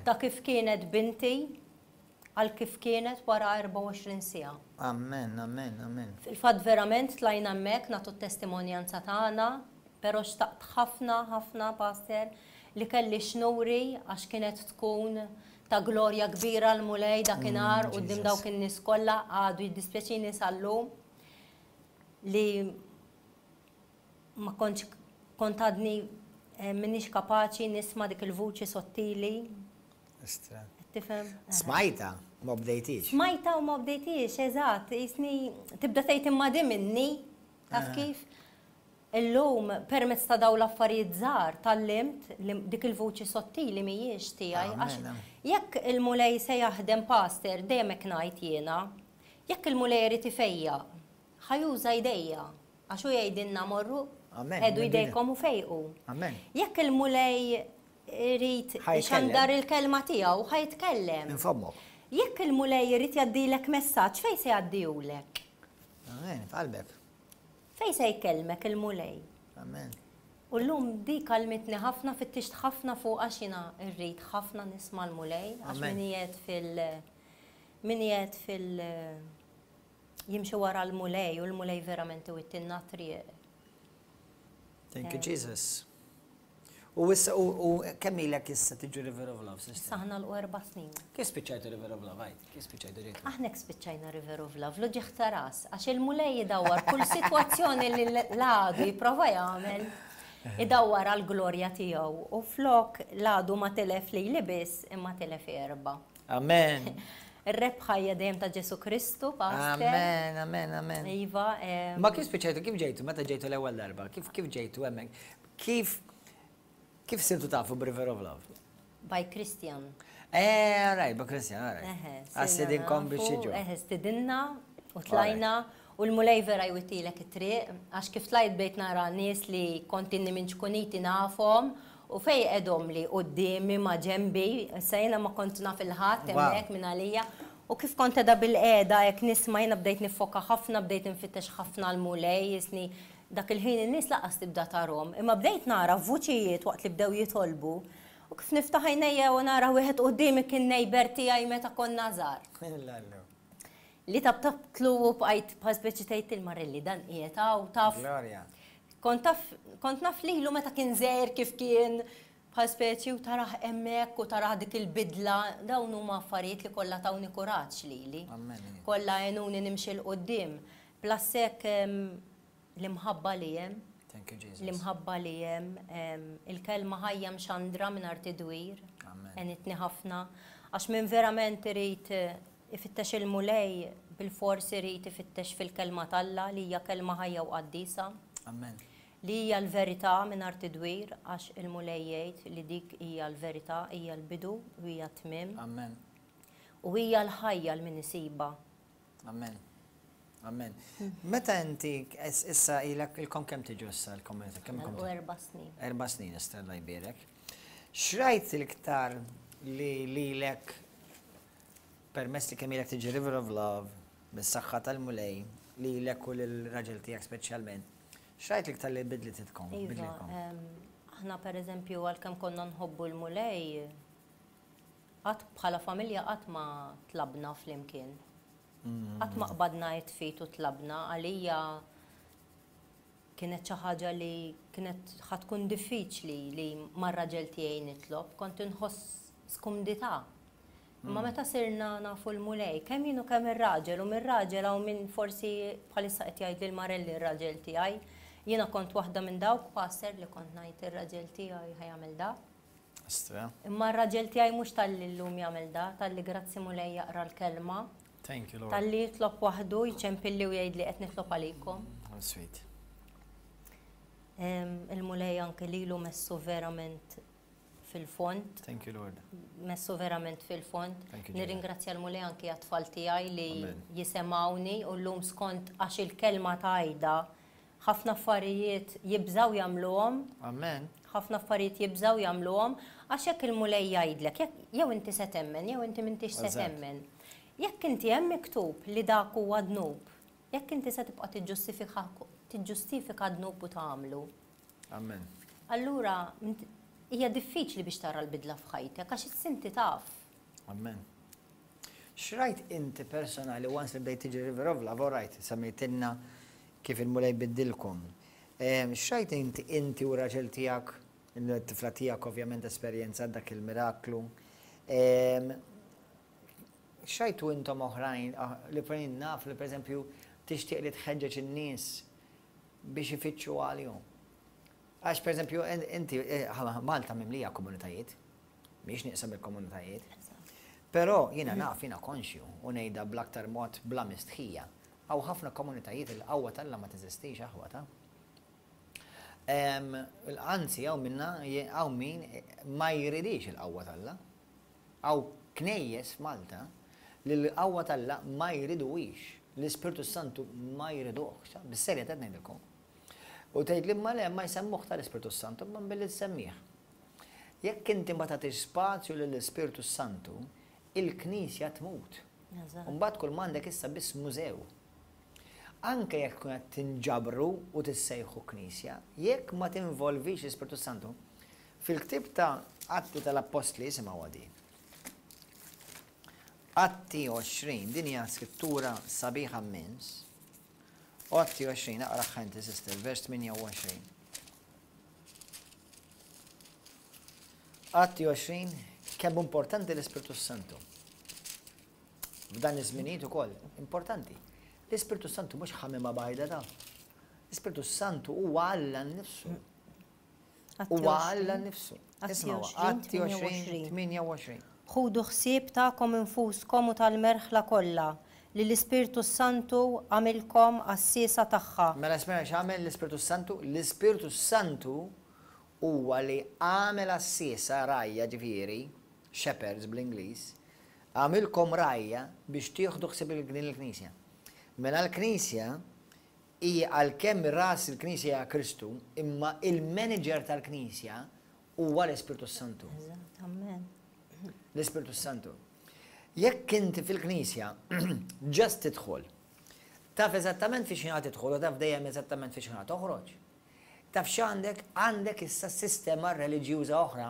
ta' kif kienet binti għal kif kienet wara 24 siegħa. Amen, amen, amen. Fil-fatt verament tlajna hemmhekk nagħtu t-testimonjanza tagħna, però xtaqt ħafna, ħafna, Pastor, li kelli x'nuri għax kienet tkun ta' glorja kbira l-Mulej dakinhar quddiem dawk in-nies kollha, għadu jiddispjaċini sal-lum li ma kontx kont għadni m'iniex kapaċi nisma' dik il-vuċi sottili. Istra. Tifhem? Smajta, ma bdejtix. Smajta u ma bdejtix, eżatt, jisni tibda tgħid imma di minni, taf kif? Illum, permezz ta' dawn l-affarijiet żgħar, tgħallimt li dik il-vuċi sottili mhijiex tiegħi għax jekk il-Mulej se jaħdem pastor, dejjem hekk ngħid jiena, jekk il-Mulej irid ifejjaq, ħa juża jdejja għax hu jgħidilna morru qiegħdu jdejkom u fejqu. Jekk il-Mulej irid ixandar il-kelma tiegħu, ħa jitkellem. Minn fommok. Jekk il-Mulej irid jgħaddilek messaġġ, fejn se jgħaddihulek? Amen, f'qalbek. Fejn se jkellmek il-Mulej? Amen. U llum dik għallmitni ħafna, fittixt ħafna fuqha għax jiena rrid ħafna nisma' l-Mulej, għax min qiegħed fil min qiegħed fil jimxi wara l-Mulej u l-Mulej verament iwittilna t-triq. Thank you Jesus. U issa u kemm ilek issa tiġu River of Love, sister? Issa aħna l erba' snin. Kif spiċċajtu River of Love, għid? Kif spiċċajtu ġejtu? Aħna hekk spiċċajna River of Love, l-uġigħ ta' ras, għax il-Mulej idawwar kull sitwazzjoni li l-għadu jipprova jagħmel, idawwar għall-glorja tiegħu. U flok l-għadu ma tilef lili biss, imma tilef erba'. Amen. Ir-rebħa hija dejjem ta' Ġesù Kristu, Pastor. Amen, amen, amen. Iva. Ma kif spiċċajtu, kif ġejtu, meta ġejtu l-ewwel darba, kif kif ġejtu hemmhekk? Kif kif sirtu tafu b'River of Love? By Christian. Eh, all right, by Christian, all right. Għas-sidinkom biex jiġu. Eħe, stidinna u tlajna u l-Mulej vera jwittilek it-triq, għax kif tlajt bdejt nara nies li kont inni minn ċkuniti nafhom u fej qegħdhom li quddiemi ma' ġenbi, issa jiena ma kont naf il-ħadd hemmhekk minn għalija. U kif kont qiegħda bilqiegħda hekk nisma' jiena bdejt niffoka ħafna, bdejt infittex ħafna l-Mulej, jisni Dak il-ħin in-nies lanqas tibda tarhom, imma bdejt nara vuċijiet waqt li bdew jitolbu, u kif niftaħ għajnejja u nara wieħed quddiemi kien neighbour tiegħi meta konna żgħar. Li tabtabtlu u bqajt bħal speċi tgħid lil Marilli dan qiegħed hawn taf. Glorja. Kont taf kont naf lilu meta kien żgħir kif kien bħal speċi u tarah hemmhekk u tarah dik il-bidla, dawn huma affarijiet li kollha tawni kuraġġ lili. Kollha għenuni nimxi 'l quddiem. Plus hekk L-imħabba li hemm. Thank you Jesus. L-imħabba li hemm, il-kelma ħajja mxandra mingħajr tidwir. Amen. Għenitni ħafna. Għax min verament irid ifittex il-Mulej, bilfors irid ifittex fil-kelma t'Alla li hija kelma ħajja u qaddisa. Amen. Li hija l-verità mingħajr tidwir għax il-Mulej jgħid li dik hija l-verità, hija l-bidu u hija t-tmiem. Amen. U hija l-ħajja 'l min isibha. Amen. Amen. Meta inti issa ilek ilkom kemm tiġu issa l-komunità? Kemm ilkom? Erba' snin. Erba' snin, Alla jbierek. X'rajt l-iktar li lilek permess li kemm ilek tiġi River of Love bis-saħħa tal-Mulej lilek u lill-raġel tiegħek speċjalment. X'rajt l-iktar li bidlititkom? Iva, aħna pereżempju għalkemm konna nħobbu l-Mulej, Qatt bħala familja qatt ma tlabna flimkien. Qatt ma qbadna id f'id u tlabna. Għalija kienet xi ħaġa li kienet ħa tkun diffiċli li mar-raġel tiegħi nitlob, kont inħoss skumdità. Imma meta sirna nafu l-Mulej, kemm jien u kemm ir-raġel, u mir-raġel hawn min forsi bħalissa qed jgħid lil Marelli r-raġel tiegħi, jiena kont waħda minn dawk pastor li kont ngħid ir-raġel tiegħi ħa jagħmel da. Astra. Imma r-raġel tiegħi mhux talli llum jagħmel da, talli grazzi Mulej jaqra l-kelma. Thank you, Lord. Talli jitlob waħdu, jċempilli u jgħidli qed nitlob għalikom. How sweet. Il-Mulej anke lilu messu verament fil-fond. Thank you, Lord. Messu verament fil-fond. Nirringrazzja l-Mulej anke għat-tfal tiegħi li jisemgħuni u llum skont għax il-kelma tgħidha Ħafna affarijiet jibżgħu jagħmluhom. Amen. Ħafna affarijiet jibżgħu jagħmluhom għax jekk il-Mulej jgħidlek, jekk jew inti se temmen jew inti m'intix se temmen. Jekk inti hemm miktub li dak huwa dnub, jekk inti se tibqa' tiġġustifika tiġġustifika d-dnub u tagħmlu. Amen. Allura hija diffiċli biex tara l-bidla f'ħajtek għax issa inti taf. Amen. X'rajt inti personali once li bdejt tiġi River of Love, all right, semmejtilna Kif il-Mulej biddilkom. X'rajt inti inti u r-raġel tiegħek, it-tifla tiegħek ovvjament esperjenzat dak il-miraklu. X'rajtu intom oħrajn li jien naf li pereżempju tixtieq li tħeġġeġ in-nies biex ifittxu għalihom. Għax pereżempju inti Malta mimlija komunitajiet, mhijiex nieqsa mill-komunitajiet. Però jiena naf, jiena konxju u ngħidha bl-aktar mod bla mistħija. Hawn ħafna komunitajiet il-qawwa t'Alla ma teżistix aħwa ta. Anzi, hawn minna, hawn min ma jridix il-qawwa t'Alla. Hawn knejjes f'Malta li l-qawwa t'Alla ma jriduhiex, l-Ispirtu s-Santu ma jriduhx. Bis-serjetà qed ngħidilkom. U tgħidli imma le ma jsemmuh tal-Ispirtu s-Santu, imma billi tsemmih. Jekk inti ma tagħtix spazju lill-Ispirtu s-Santu, il-Knisja tmut. U mbagħad kull m'għandek issa biss mużew. Anke jekk tkun qed tinġabru u tissejħu Knisja, jekk ma tinvolvix l-Ispirtu s-Santu, fil-ktieb ta' Atti tal-Appostli, isimgħuha din. Atti 20, din hija skrittura sabiħa mmens. Atti 20, aqraha inti sister, vers 28. Atti 20, kemm importanti l-Ispirtu Santu. F'dan iż-żminijiet ukoll importanti. L-Ispirtu Santu mhux ħamima bajda ta. L-Ispirtu Santu huwa Alla nnifsu. Huwa Alla nnifsu. Isma' Atti 20, 28. Ħudu ħsieb tagħkom infuskom u tal-merħla kollha li l-Ispirtu s-Santu għamilkom għassiesa tagħha. Mela smajna x'għamel l-Ispirtu s-Santu? L-Ispirtu s-Santu huwa li għamel għassiesa, rgħajja ġifieri, shepherds bl-Ingliż, għamilkom rgħajja biex tieħdu ħsieb din il-Knisja. Mela l-Knisja hi għalkemm ras il-Knisja hija Kristu, imma il-manager tal-Knisja huwa l-Ispirtu s-Santu. Eżatt, amen. L-Ispirtu s-Santu. Jekk inti fil-Knisja just tidħol, taf eżattament fi x'ħin tidħol u taf dejjem eżattament fi x'ħin toħroġ. Taf x'għandek? Għandek issa sistema reliġjuża oħra.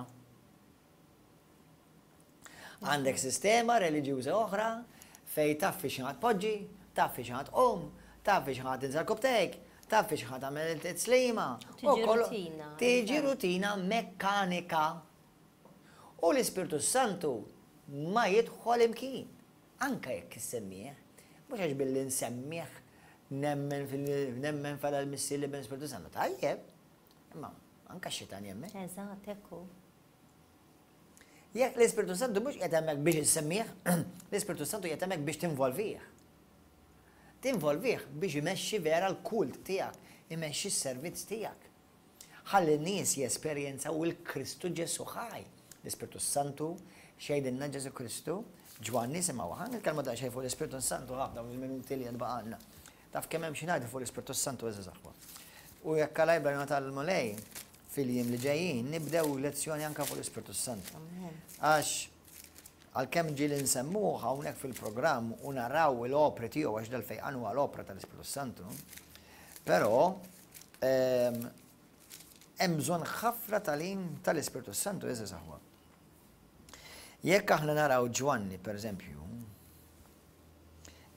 Għandek sistema reliġjuża oħra fejn taf fi x'ħin tpoġġi, taf fi x'ħin tqum, taf fi x'ħin tinżel kubtejk, taf fi x'ħin tagħmel it-tislima. Tiġi rutina. Tiġi rutina mekkanika. U l-Ispirtu s-Santu ma jidħol imkien, anke jekk issemmih, mhux għax billi nsemmih nemmen fil nemmen f'Alla l-Missier l-Iben l-Ispirtu Santu. Tajjeb, imma anke x-xitan jemmen. Eżatt, hekk hu. Jekk l-Ispirtu Santu mhux qiegħed hemmhekk biex issemmih, l-Ispirtu Santu qiegħed hemmhekk biex tinvolvih. Tinvolvih biex imexxi vera l-kult tiegħek, imexxi s-servizz tiegħek. Ħalli n-nies jesperjenzaw il-Kristu Ġesù ħaj. L-Ispirtu s-Santu, x'jgħidilna Ġesù Kristu? Ġwanni, simgħu, ħa nitkellmu daqsxejn fuq l-Ispirtu s-Santu ħa f'dawn il-minuti li għad baqgħalna. Taf kemm hemm xi ngħidu fuq l-Ispirtu s-Santu għeżież aħwa. U jekk Alla jibgħalna tal-Mulej fil-jiem li ġejjin nibdew lezzjoni anke fuq l-Ispirtu s-Santu. Għax għalkemm ġieli nsemmuh hawnhekk fil-programm u naraw l-opri tiegħu għax dal-fejqan huwa l-opra tal-Ispirtu s-Santu, però Hemm bżonn ħafna tagħlim tal-Ispirtu s-Santu, għeżież aħwa. Jekk aħna naraw Ġwanni, per eżempju,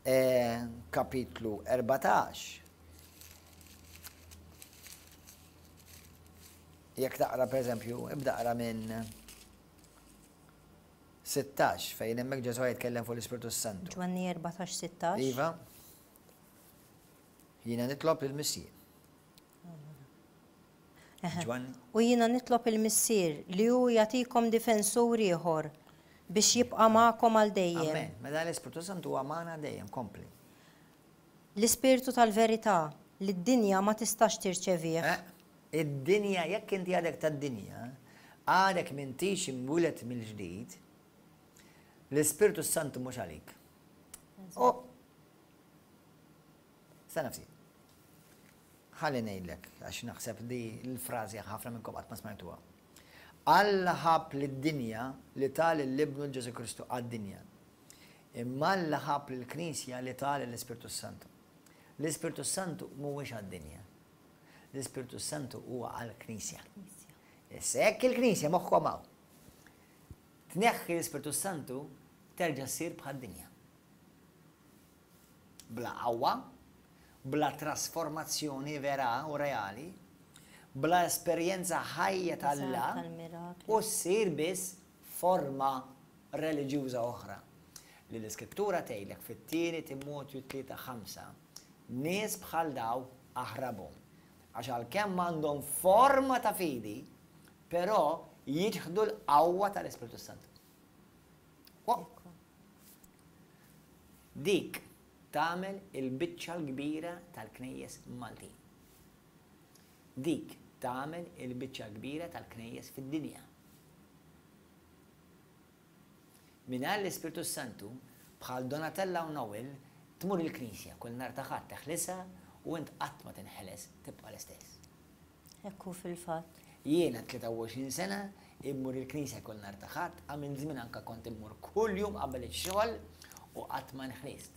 eh, kapitlu 14, jekk taqra per eżempju, ibda qra minn 16 fejn hemmhekk Ġesù jitkellem fuq l-Ispirtu s-Santu. Ġwanni 14, 16. Iva. Jiena nitlob lill-Missier. Ġwanni. U jiena nitlob il-Missier li hu jagħtikom difensur ieħor biex jibqa' magħkom għal dejjem. Amen. Mela l-Ispirtu Santu huwa magħna dejjem, kompli. L-Ispirtu tal-verità li d-dinja ma tistax tirċevih. Eh, id-dinja, jekk inti għadek tad-dinja, għadek m'intix imwieled mill-ġdid, l-Ispirtu Santu mhux għalik. U Stenna ftit. Ħalli ngħidlek, għax naħseb di l-frażi ħafna minnkom qatt ma smajtuha. Alla ħabb lid-dinja li ta lil Ibnu Ġesù Kristu għad-dinja. Imma Alla ħabb lill-Knisja li ta lill-Ispirtu s-Santu. L-Ispirtu s-Santu mhuwiex għad-dinja. L-Ispirtu s-Santu huwa għall-Knisja. Issa jekk il-Knisja moħħkom hawn. Tneħħi l-Ispirtu s-Santu terġa' ssir bħad-dinja. Bla qawwa, bla trasformazzjoni vera u reali, bla esperjenza ħajja t'Alla u ssir biss forma reliġjuża oħra. Li l-Iskrittura tgħidlek fit-Tieni Timotju 3:5, nies bħal daw aħrabhom, għax għalkemm għandhom forma ta' fidi, però jiċħdu l-qawwa tal-Ispirtu s-Santu. Dik tagħmel il-biċċa l-kbira tal-knejjes Maltin. Dik. tagħmel il-biċċa l-kbira tal-knejjes fid-dinja. Mingħajr l-Ispirtu s-Santu, bħal Donatella u Noel, tmur il-knisja kull nhar ta' Ħadd teħlisha u int qatt ma tinħeles, tibqa' l-istess. Hekk hu fil-fatt. Jiena 23 sena immur il-knisja kull nhar ta' Ħadd, għamilt żmien anke kont immur kuljum qabel ix-xogħol u qatt ma nħlist.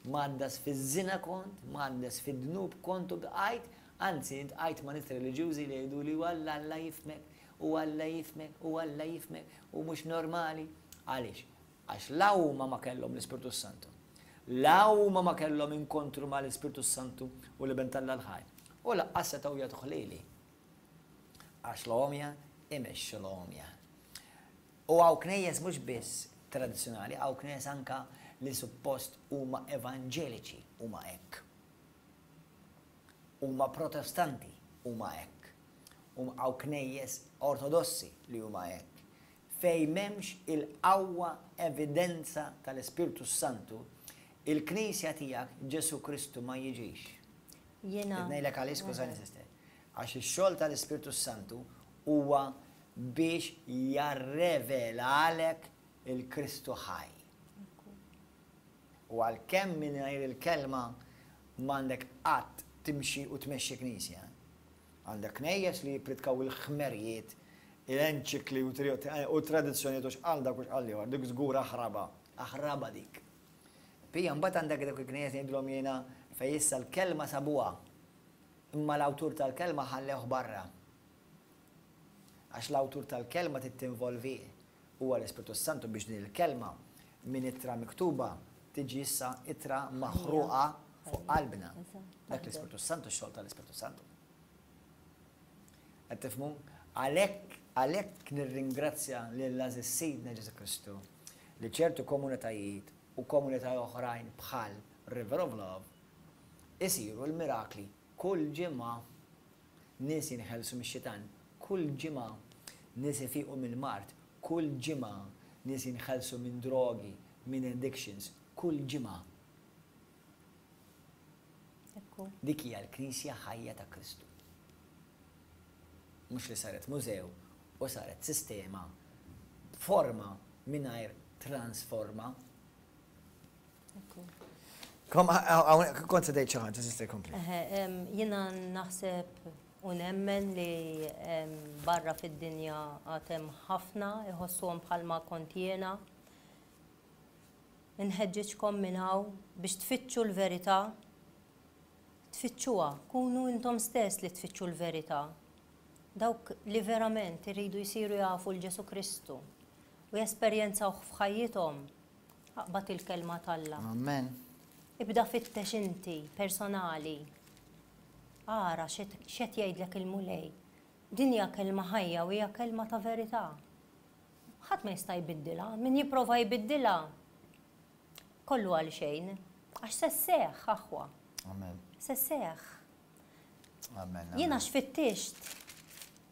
Mgħaddas fiż-żina kont, mgħaddas fid-dnub kont u bqajt, anzi intqajt ma' nies reliġjużi li jgħiduli u Alla Alla jifhmek, u Alla jifhmek, u Alla jifhmek, u mhux normali. Għaliex? Għax la huma ma kellhom l-Ispirtu s-Santu. La huma ma kellhom inkontru ma' l-Ispirtu s-Santu u l-Iben t'Alla l-ħaj. U lanqas setgħu jagħtuh lili. Għax l-għomja imexxu l-għomja. U hawn knejjes mhux biss tradizzjonali, hawn knejjes anka li suppost huma evanġeliċi huma hekk. Huma protestanti huma hekk. Hawn knejjes ortodossi li huma hekk. Fejn m'hemmx il-qawwa evidenza tal-Ispirtu s-Santu, il-knisja tiegħek Ġesù Kristu ma jiġix. Jiena. Qed ngħidlek għaliex, skużani sister. Għax ix-xogħol tal-Ispirtu s-Santu huwa biex jarrevelalek il-Kristu ħaj. U għalkemm mingħajr il-kelma m'għandek qatt timxi u tmexxi knisja. Għandek knejjes li jippritkaw il-ħmerijiet, il-enċikli u tradizzjonijiet u x'qal dak u x'qal l-ieħor, dik żgur aħraba, aħraba dik. Pija mbagħad għandek dawk il-knejjes li ngħidulhom jiena fejn issa l-kelma sabuha, imma l-awtur tal-kelma ħallewh barra. Għax l-awtur tal-kelma trid tinvolvih, huwa l-Ispirtu s-Santu biex din il-kelma minn ittra miktuba tiġi issa ittra maħruqa fuq qalbna. Dak l-Ispirtu s-Santu, x-xogħol tal-Ispirtu s-Santu. Qed tifhmu? Għalhekk għalhekk nirringrazzja lill-għażiż Sidna Ġesù Kristu li ċertu komunitajiet u komunitajiet oħrajn bħal River of Love isiru l-mirakli kull ġimgħa. Nies jinħelsu mix-xitan kull ġimgħa, nies ifiqu mill-mard kull ġimgħa, nies jinħelsu minn drogi, minn addictions kull ġimgħa. Dik hija l-Knisja ħajja ta' Kristu. Mhux li saret mużew u saret sistema b'forma mingħajr transforma. Kont se tgħid xi ħaġa, sister kompli. Jiena naħseb u nemmen li barra fid-dinja għad hemm ħafna iħossuhom bħalma kont jiena. Inħeġġiġkom minn hawn biex tfittxu l-verità. Tfittxuha, kunu intom stess li tfittxu l-verità. Dawk li verament iridu jsiru jafu 'l Ġesù Kristu u jesperjenzawh f'ħajjithom, Aqbad il-Kelma t'Alla. Amen. Ibda fittex inti, personali. Ara x'qed jgħidlek il-Mulej. Din hija kelma ħajja u hija kelma ta' verità. Ħadd ma jista' jbiddilha. Min jipprova jbiddilha, kollu għal xejn. Għax se sseħħ, aħwa. Amen. Se sseħħ. Amen. Jien għax fittixt.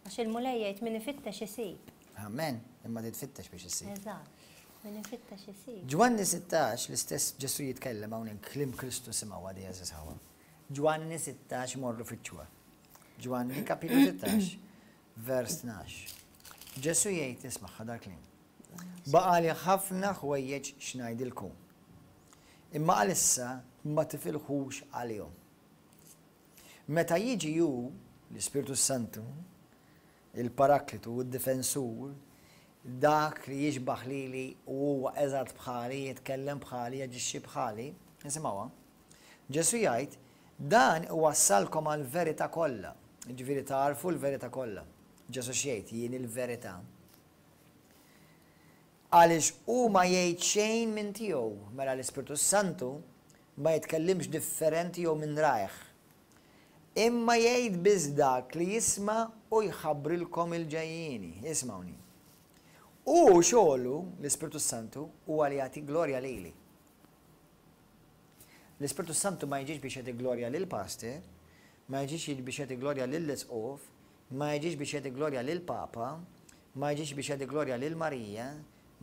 Għax il-Mulej jgħid min ifittex isib. Amen. Imma trid tfittex biex issib. Eżatt. Min ifittex isib. Ġwanni 16, l-istess Ġesù jitkellem hawnhekk kliem Kristu simgħu għadi għeżież ħawa. Ġwanni 16 morru fittxuha. Ġwanni kapitlu 16, vers 12. Ġesù jgħid ismagħha dal-kliem. Baqali ħafna ħwejjeġ x'ngħidilkom. Imma għalissa ma tifilħux għalihom. Meta jiġi hu, l-Ispirtu s-Santu, il-Paraklitu, id-Difensur, dak li jixbah lili u huwa eżatt bħali, jitkellem bħali, jaġixxi bħali, nisimgħuha. Ġesù jgħid, Dan iwassalkom għall-verità kollha, jiġifieri tagħrfu l-verità kollha. Ġesù x'jgħid? Jien il-verità. Għaliex hu ma jgħid xejn minn tiegħu, mela l-Ispirtu s-Santu ma jitkellimx differenti jew minn rajh. Imma jgħid biss dak li jisma' u jħabbrilkom il-ġejjieni. Ismgħuni. Hu xogħlu, l-Ispirtu s-Santu, huwa li jagħti glorja lili. L-Ispirtu s-Santu ma jiġix biex jagħti glorja lill-pastor, ma jiġix biex jagħti glorja lill-isqof, ma jiġix biex jagħti glorja lill-Papa, ma jiġix biex jagħti glorja lil Marija,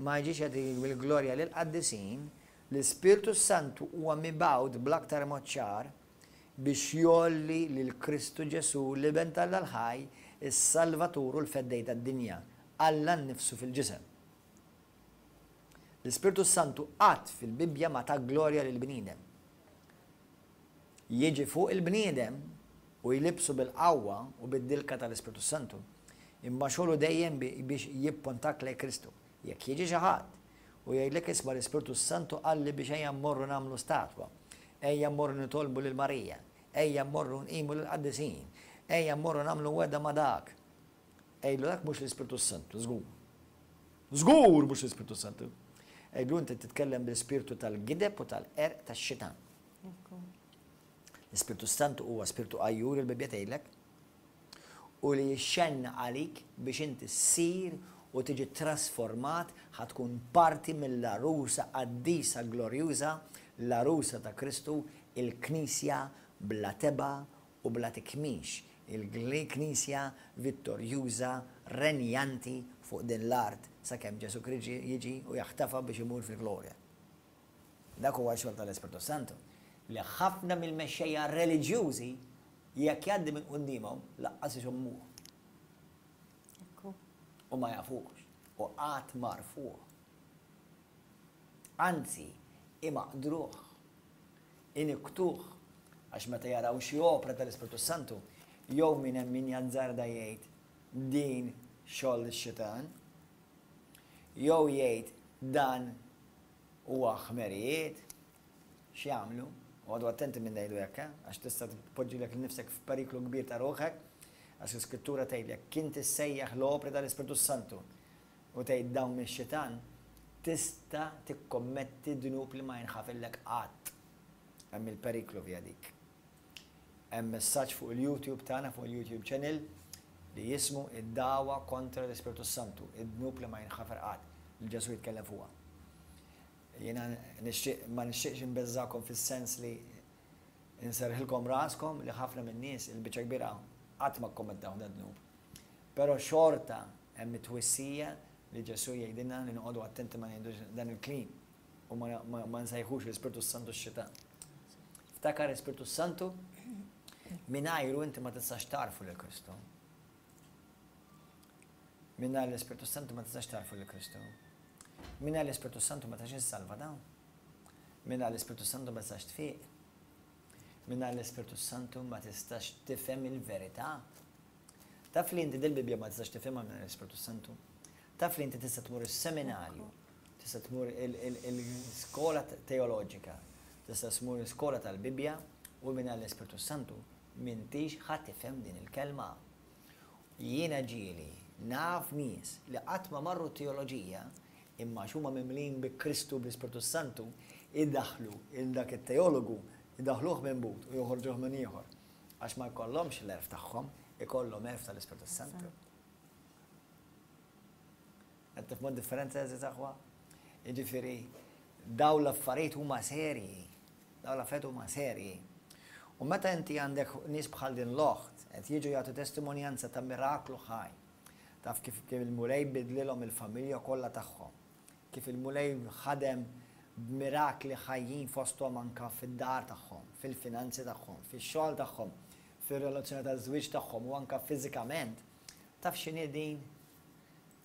ma jiġix jagħti l-glorja lill-qaddisin, l-Ispirtu s-Santu huwa mibgħut bl-aktar mod ċar biex jgħolli lil Kristu Ġesù, l-Iben t'Alla l-ħaj, Is-Salvatur u l-Feddej tad-dinja, Alla nnifsu fil-ġisem. L-Ispirtu s-Santu qatt fil-Bibbja ma ta glorja lill-bniedem. Jiġi fuq il-bniedem u jlibbsu bil-qawwa u bid-dilka tal-Ispirtu s-Santu, imma xogħlu dejjem biex jippontak lejn Kristu. Jekk jiġi xi ħadd u jgħidlek isma' l-Ispirtu s-Santu qalli biex ejja mmorru nagħmlu statwa, ejja mmorru nitolbu lil Marija, ejja mmorru nqimu lill-qaddisin, ejja mmorru nagħmlu wegħda ma' dak. Għidlu dak mhux l-Ispirtu s-Santu, żgur. Żgur mhux l-Ispirtu s-Santu. Għidlu inti titkellem bl-ispirtu tal-gideb u tal-qerq tax-xitan. L-Ispirtu s-Santu huwa spirtu għajjur il-Bibbja tgħidlek u li jixxenna għalik biex inti ssir u tiġi trasformat ħa tkun parti mill-għarusa qaddisa glorjuża, l-għarusa ta' Kristu, il-Knisja bla tebgħa u bla tikmix, il-Knisja vittorjuża renjanti fuq din l-art sakemm Ġesù Kriġi jiġi u jaħtafha biex imur fil-glorja. Dak huwa x-xogħol tal-Ispirtu s-Santu, li ħafna mill-mexxejja reliġjużi jekk jgħaddi minn quddiemhom lanqas ixommuh. U ma jafuhx u qatt m'għarfuh. Anzi, imaqdruh, inikktuh, għax meta jaraw xi opra tal-Ispirtu s-Santu, jew min hemm min jazzarda jgħid din xogħol ix-xitan, jew jgħid dan huwa ħmerijiet, x'jagħmlu? Oqogħdu attenti minn ngħidu hekk, eh? Għax tista' tpoġġilek nnifsek f'periklu kbir ta' ruħek, għax l-Iskrittura tgħid jekk inti ssejjaħ l-opri tal-Ispirtu s-Santu u tgħid dawn mix-xitan, tista' tikkommetti dnub li ma jinħafillek qatt. Hemm il-periklu fiha dik. Hemm messaġġ fuq il-YouTube tagħna, fuq il-YouTube channel, li jismu Id-Dagħwa kontra l-Ispirtu s-Santu, id-dnub li ma jinħafer qatt, li Ġesù jitkellem fuqha. Jiena nixtieq, ma nixtieqx inbeżżagħkom fis-sens li nserrħilkom raskom li ħafna min-nies, il-biċċa kbira, qatt ma kkommettaw dad-dnub. Però xorta hemm it-twissija li Ġesù jgħidilna li noqogħdu attenti ma ngħidux dan il-kliem u ma nsejħux l-Ispirtu s-Santu x-xitan. Ftakar l-Ispirtu s-Santu, mingħajru inti ma tistax tagħrfu lil Kristu. Mingħajr l-Ispirtu s-Santu ma tistax tagħrfu lil Kristu. Mingħajr l-Ispirtu s-Santu ma tistax issalva dawn. Mingħajr l-Ispirtu s-Santu ma tistax tfiq. Mingħajr l-Ispirtu s-Santu ma tistax tifhem il-verità. Taf li inti dil-Bibbja ma tistax tifhimha mingħajr l-Ispirtu s-Santu. Taf li inti tista' tmur is-seminarju, tista' tmur il-skola teoloġika, tista' tmur il-skola tal-Bibbja u mingħajr l-Ispirtu s-Santu m'intix ħa tifhem din il-kelma. Jiena ġieli naf nies li qatt ma marru t-teoloġija imma għax huma mimlijin bi Kristu u bl-Ispirtu s-Santu idaħħlu 'l dak it-teologu, idaħħluh minn but u joħorġuh minn ieħor. Għax ma jkollhomx l-għerf tagħhom, ikollhom għerf tal-Ispirtu s-Santu. Qed tifhmu d-differenza għeżież aħwa? Jiġifieri dawn l-affarijiet huma serji. Dawn l-affarijiet huma serji. U meta inti għandek nies bħal din l-oħt qed jiġu jagħtu testimonjanza ta' miraklu ħaj, taf kif il-Mulej bidlilhom il-familja kollha tagħhom, kif il-Mulej ħadem b'mirakli ħajjin fosthom anke fid-dar tagħhom, fil-finanzi tagħhom, fix-xogħol tagħhom, fir-relazzjoni taż-żwieġ tagħhom u anke fiżikament, taf x'inhi din?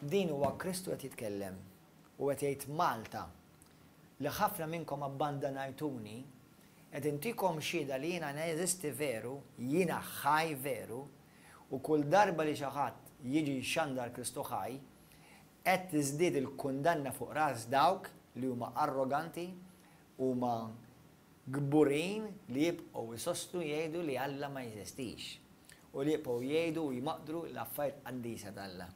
Din huwa Kristu qed jitkellem u qed jgħid Malta, li ħafna minnkom abbandanajtuni, qed intikom xhieda li jiena neżisti veru, jiena ħaj veru, u kull darba li xi ħadd jiġi jxandar Kristu ħaj, Qed tiżdied il-kundanna fuq ras dawk li huma arroganti, huma kburin li jibqgħu jsostnu jgħidu li Alla ma jeżistix u li jibqgħu jgħidu u jmaqdru l-affarijiet qaddisa t'Alla.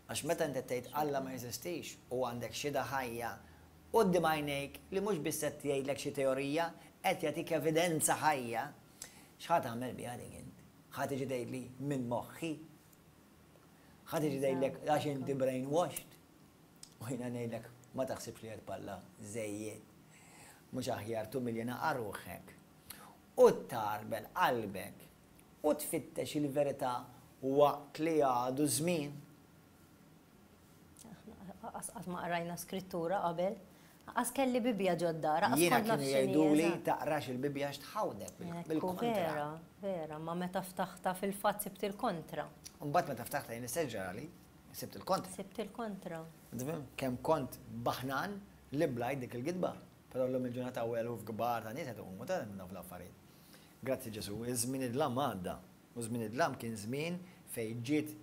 Għax meta inti tgħid Alla ma jeżistix u għandek xhieda ħajja quddiem għajnejk li mhux biss qed jgħidlek xi teorija, qed jagħtik evidenza ħajja, x'ħa tagħmel biha dik int? Ħa tiġi tgħidli minn moħħi? Ħa tiġi tgħidlek għax inti brainwashed. U jiena ngħidlek ma taħsibx li qed palla żejjed. Mhux aħjar tumilja naqa' ruħek u tgħarbel qalbek u tfittex il-verità waqt li għadu żmien. Aħna qas qatt ma qrajna skrittura qabel. Qas kelli Bibbja ġod-dar, qas Jiena kont naf kienu x'inhi jgħiduli eżatt. taqrax il-Bibbja għax tħawdek Ekku, bil-kontra. vera, vera, ma meta ftaħtha fil-fatt sibt il-kontra. U mbagħad meta ftaħtha jien istess ġrali, sibt il-kontra. Sibt il-kontra. Tifhem? Kemm kont baħnan li blajt dik il-gidba. Però llum il-ġurnata hawn eluf kbar ta' nies qed iqumu ta' minn dawk l-affarijiet. Grazzi Ġesù, iż-żmien id-dlam għadda. U żmien id-dlam kien żmien fejn ġiet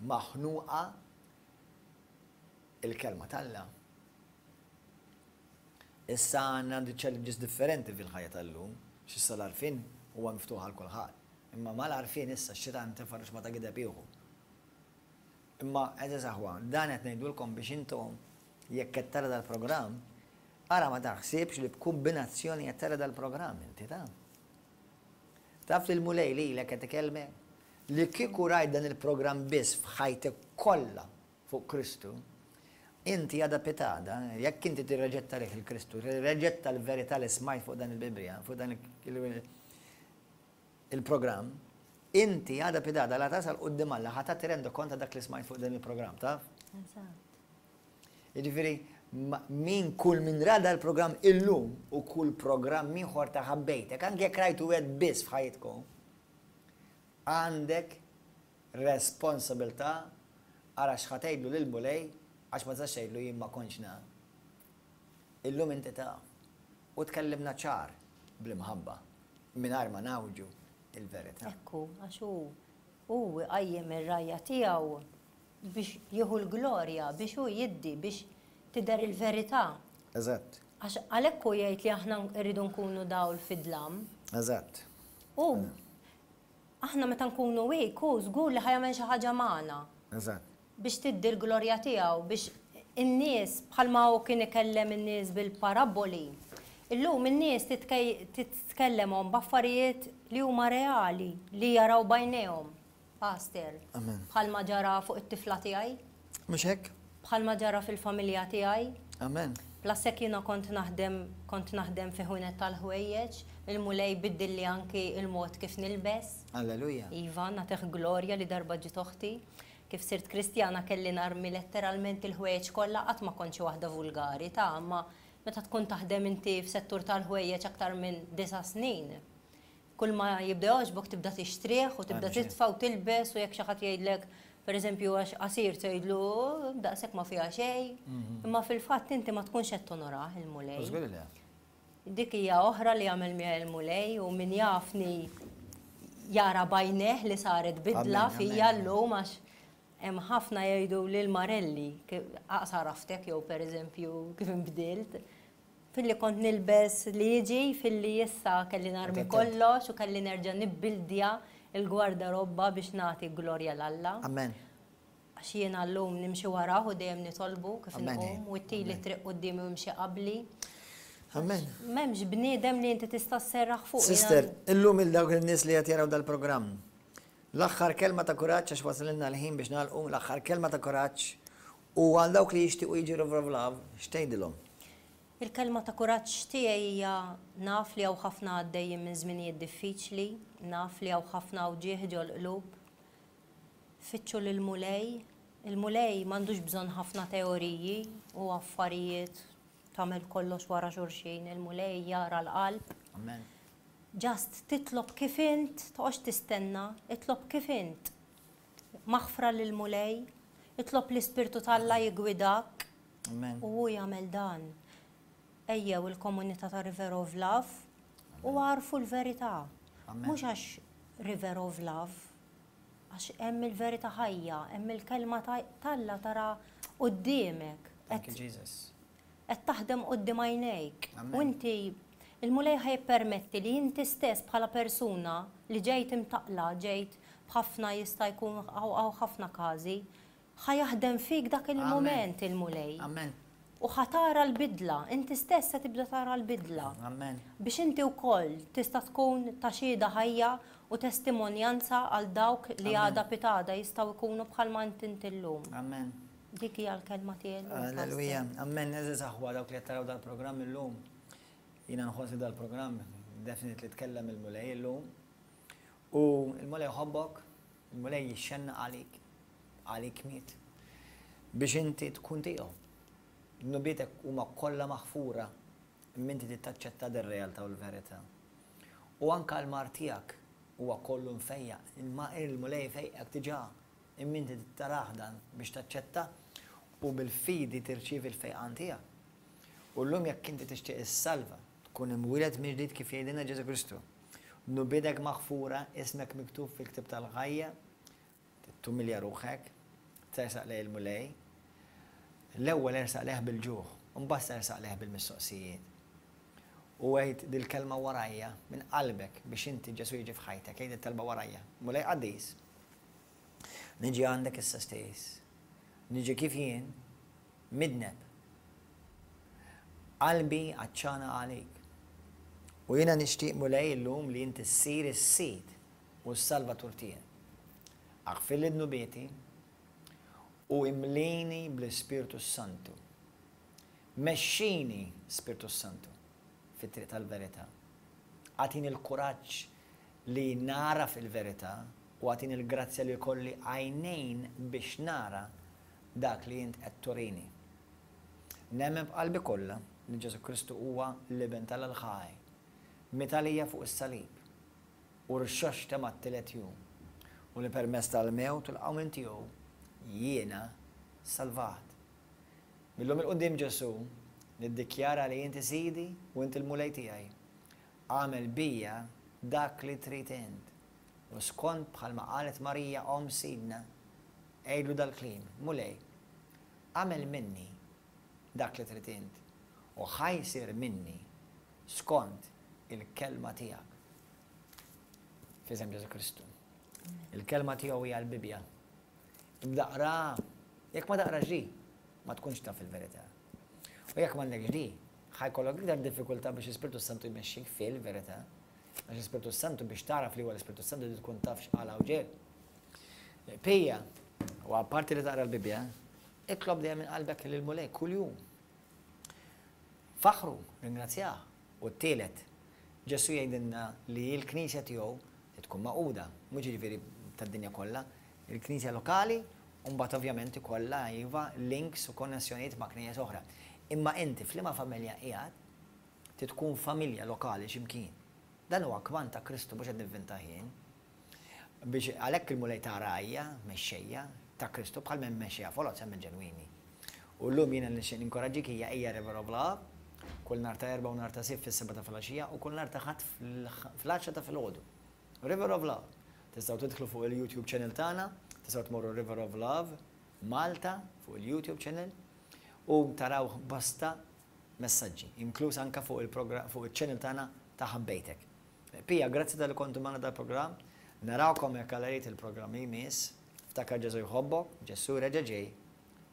maħnuqa il-kelma t'Alla. Issa għandna challenges differenti fil-ħajja tal-lum, x'issa l-għarfien huwa miftuħ għal kulħadd. Imma mal-għarfien issa x-xitan tefa' ruxma ta' gideb ieħu. Imma għeżież aħwa, dan qed ngħidulkom biex intom jekk qed tara dal-programm, ara ma taħsibx li b'kumbinazzjoni qed tara dal-programm inti ta. Taf li l-Mulej lilek qed ikellmek? Li kieku rajt dan il-programm biss f'ħajtek kollha fuq Kristu, inti għada pitgħada, jekk inti tirreġetta lih il-Kristu, tirreġetta l-verità li smajt fuq dan il-Bibbja, fuq dan il-programm, inti għada pitgħada la tasal quddiem Alla ħa tagħti rendikont ta' dak li smajt fuq dan il-programm, taf? Eżatt. Jiġifieri, min kull min ra dal-programm illum u kull programm ieħor ta' ħabbejtek, anke jekk rajtu wieħed biss f'ħajjitkom, għandek Responsabilità, ara x'ħa tgħidlu lill-Mulej għax ma tistax tgħidlu jien ma kontx naf. Illum inti taf. U tkellimna ċar bl-imħabba, mingħajr ma ngħawġu l-verità. Hekk hu, għax hu, hu jqajjem ir-rgħajja tiegħu biex jieħu l-glorja, biex hu jiddi, biex tidher il-verità. Eżatt. Għax għalhekk hu jgħid li aħna rridu nkunu dawl fid-dlam. Eżatt. U Aħna meta nkunu weak, hu żgur li ħa jagħmel xi ħaġa magħna. Eżatt. Biex tiddi l-glorja tiegħu, biex in-nies, bħalma hu kien ikellem in-nies bil-parabboli, illum in-nies titkellemhom b'affarijiet li huma reali, li jaraw b'għajnejhom. Pastor. Amen. Bħalma ġara fuq it-tifla tiegħi. Mhux hekk? Bħalma ġara fil-familja tiegħi. Amen. Plus hekk jiena kont naħdem kont naħdem fi ħwienet tal-ħwejjeġ, il-Mulej biddilli anki il-mod kif nilbes. Alleluja. Iva, nagħtih glorja li darba ġiet oħti. Kif sirt Kristjana kelli narmi letteralment il-ħwejjeġ kollha, qatt ma kont xi waħda vulgari ta' imma meta tkun taħdem inti f'settur tal-ħwejjeġ aktar minn disa' snin, Kull ma jibda jogħġbok tibda tixtrih u tibda titfa' u tilbes u jekk xi ħadd jgħidlek pereżempju għax qasir tgħidlu daqshekk ma fiha xejn. Imma fil-fatt inti ma tkunx qed tonorah il-Mulej. Żgur li le. Dik hija oħra li għamel miegħi il-Mulej u min jafni jara b'għajnejh li saret bidla fija llum għax hemm ħafna jgħidu lil Marelli aqs għaraftek jew pereżempju kif inbdilt. Filli kont nilbes li jiġi, filli issa kelli narmi kollox u kelli nerġa' nibbildja l-gwardarobba biex nagħti glorja 'l Alla. Amen. Għax jiena llum nimxi warah u dejjem nitolbu kif inqum u ittili t-triq quddiemi u imxi qabli. Amen. M'hemmx bniedem li inti tista' sserraħ fuqu. Sister, illum il dawk in-nies li qed jaraw dal-programm. L-aħħar kelma ta' kuraġġ għax wasalilna l-ħin biex nagħlqu, l-aħħar kelma ta' kuraġġ u għal dawk li jixtiequ jiġu River of Love, x'tgħidilhom? Il-kelma ta' kuraġġ tiegħi hija naf li hawn ħafna għaddejjin minn żminijiet diffiċli, naf li hawn ħafna wġigħ ġol-qlub. Fittxu lill-Mulej. Il-Mulej m'għandux bżonn ħafna teoriji u affarijiet tagħmel kollox wara xulxin, il-Mulej jara l-qalb. Amen. Just titlob kif int, toqgħodx tistenna, itlob kif int. Maħfra lill-Mulej, itlob l-Ispirtu t'Alla jiggwidak. Amen. U hu jagħmel dan. Ejjew il-komunità ta' River of Love u għarfu l-verità. Mhux għax River of Love, għax hemm il-verità ħajja, hemm il-kelma t'Alla tara quddiemek. Thank you, Jesus. Qed taħdem quddiem għajnejk. U inti, il-Mulej ħa jippermetti li inti stess bħala persuna li ġejt imtaqqla, ġejt b'ħafna jista' jkun hawn ħafna każi, Ħa jaħdem fik dak il-mument il-Mulej. Amen. U ħa tara l-bidla, inti stess se tibda tara l-bidla. Amen. Biex inti wkoll tista' tkun ta' xhieda ħajja u testimonjanza għal dawk li għada pitgħada jistgħu jkunu bħalma int int illum. Amen. Dik hija l-kelma tiegħi llum. Alleluja. Amen. Għeżież aħwa dawk li qed taraw dal-programm illum. Jiena nħoss li dal-programm definitely tkellem il-Mulej illum. U l-Mulej jħobbok, il-Mulej jixxennaq għalik. Għalik miet. Biex inti tkun tiegħu. Dnubietek huma kollha maħfura imma inti trid taċċetta dir-realtà u l-verità. U anke l-mard tiegħek huwa kollu mfejjaq, imma il-Mulej fejqek diġà, imma inti trid tarah dan biex taċċetta u bil-fidi tirċievi l-fejqan tiegħek. U llum jekk inti tixtieq issalva, tkun imwieled mill-ġdid kif jgħidilna Ġesù Kristu, dnubiedek maħfura, ismek miktub fil-ktieb tal-ħajja, Tumilja ruħek, tersaq lejn il-Mulej. L-ewwel ersaq lejh bil-ġuħ, u mbagħad tersaq lejh bil-mistoqsijiet. U għid dil-kelma warajja minn qalbek biex inti Ġesù jiġi f'ħajtek. Għid it-talba warajja. Mulej qaddis, niġi għandek issa stess. Niġi kif jien, midneb. Qalbi għatxana għalik. U jiena nixtieq Mulej illum li inti ssir is-Sid u s-Salvatur tiegħi. Aħfirli dnubieti u imlini bl-Ispirtu s-Santu. Mexxini, Spirtu s-Santu, fit-triq tal-verità. Agħtini l-kuraġġ li nagħraf il-verità u agħtini l-grazzja li jkolli għajnejn biex nara dak li int qed turini. Nemmen b'qalbi kollha li Ġesù Kristu huwa l-Iben t'Alla l-ħaj, miet għalija fuq is-salib u rxoxta mat-tielet jum, u li permezz tal-mewt u l-qawmien tiegħu jiena salvat. Mil-lum 'il quddiem Ġesù, niddikjara li inti Sidi u inti l-Mulej tiegħi. Agħmel bija dak li trid int. U skont bħalma qalet Marija omm Sidna, għidlu dal-kliem, Mulej, agħmel minni dak li trid int, u ħa jsir minni skont il-kelma tiegħek. F'isem Ġesù Kristu. Il-kelma tiegħu hija l-Bibbja. Ibda qraha. Jekk ma taqrax di, ma tkunx taf il-verità. U jekk m'għandekx di, ħa jkollok iktar diffikultà biex l-Ispirtu Santu jmexxik fil-verità. Għax l-Ispirtu Santu biex tagħraf li huwa l-Ispirtu Santu trid tkun taf x'qal hawn ġej. Pija, u apparti li taqra l-Bibbja, itlob dejjem minn qalbek lill-Mulej kuljum. Faħħru, ringrazzjah. U t-tielet, Ġesù jgħidilna li l-Knisja tiegħu trid tkun magħquda, mhux jiġifieri tad-dinja kollha, il-Knisja lokali u mbagħad ovvjament ikollha iva links u konnessjonijiet ma' knejjes oħra. Imma inti f'liema familja qiegħed, trid tkun familja lokali xi mkien. Dan huwa kmand ta' Kristu mhux qed nivvintah jien. Biex għalhekk il-Mulej ta rgħajja, mexxejja, ta' Kristu bħal m'hemm mexxejja foloz hemm il-ġenwini. U llum jiena li nixtieq ninkoraġġik hija ejja River of Love, kull nhar ta' Erbgħa u nhar ta' Sibt fis-sebgħa ta' filgħaxija u kull nhar ta' Ħadd fl-għaxra ta' filgħodu. River of Love. Tistgħu tidħlu fuq il-YouTube channel tagħna, tistgħu tmorru River of Love Malta fuq il-YouTube channel u taraw bosta messaġġi, inkluż anke fuq il-channel tagħna ta' Ħabbejtek. Pia, grazzi talli kontu magħna dal-programm. Narawkom jekk Alla jrid il-programm li jmiss. Ftakar Ġesù jħobbok, Ġesù reġa' ġej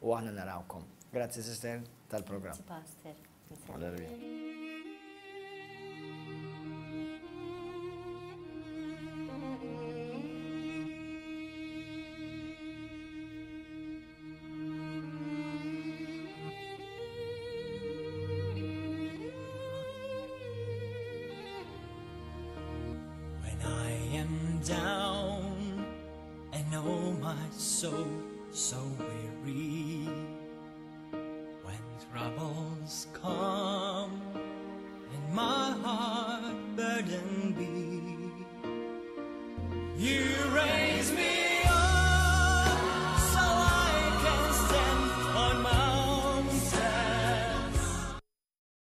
u aħna narawkom. Grazzi sister tal-programm. Grazzi pastor. Alleluja. When I am down and oh my soul so weary, when troubles come.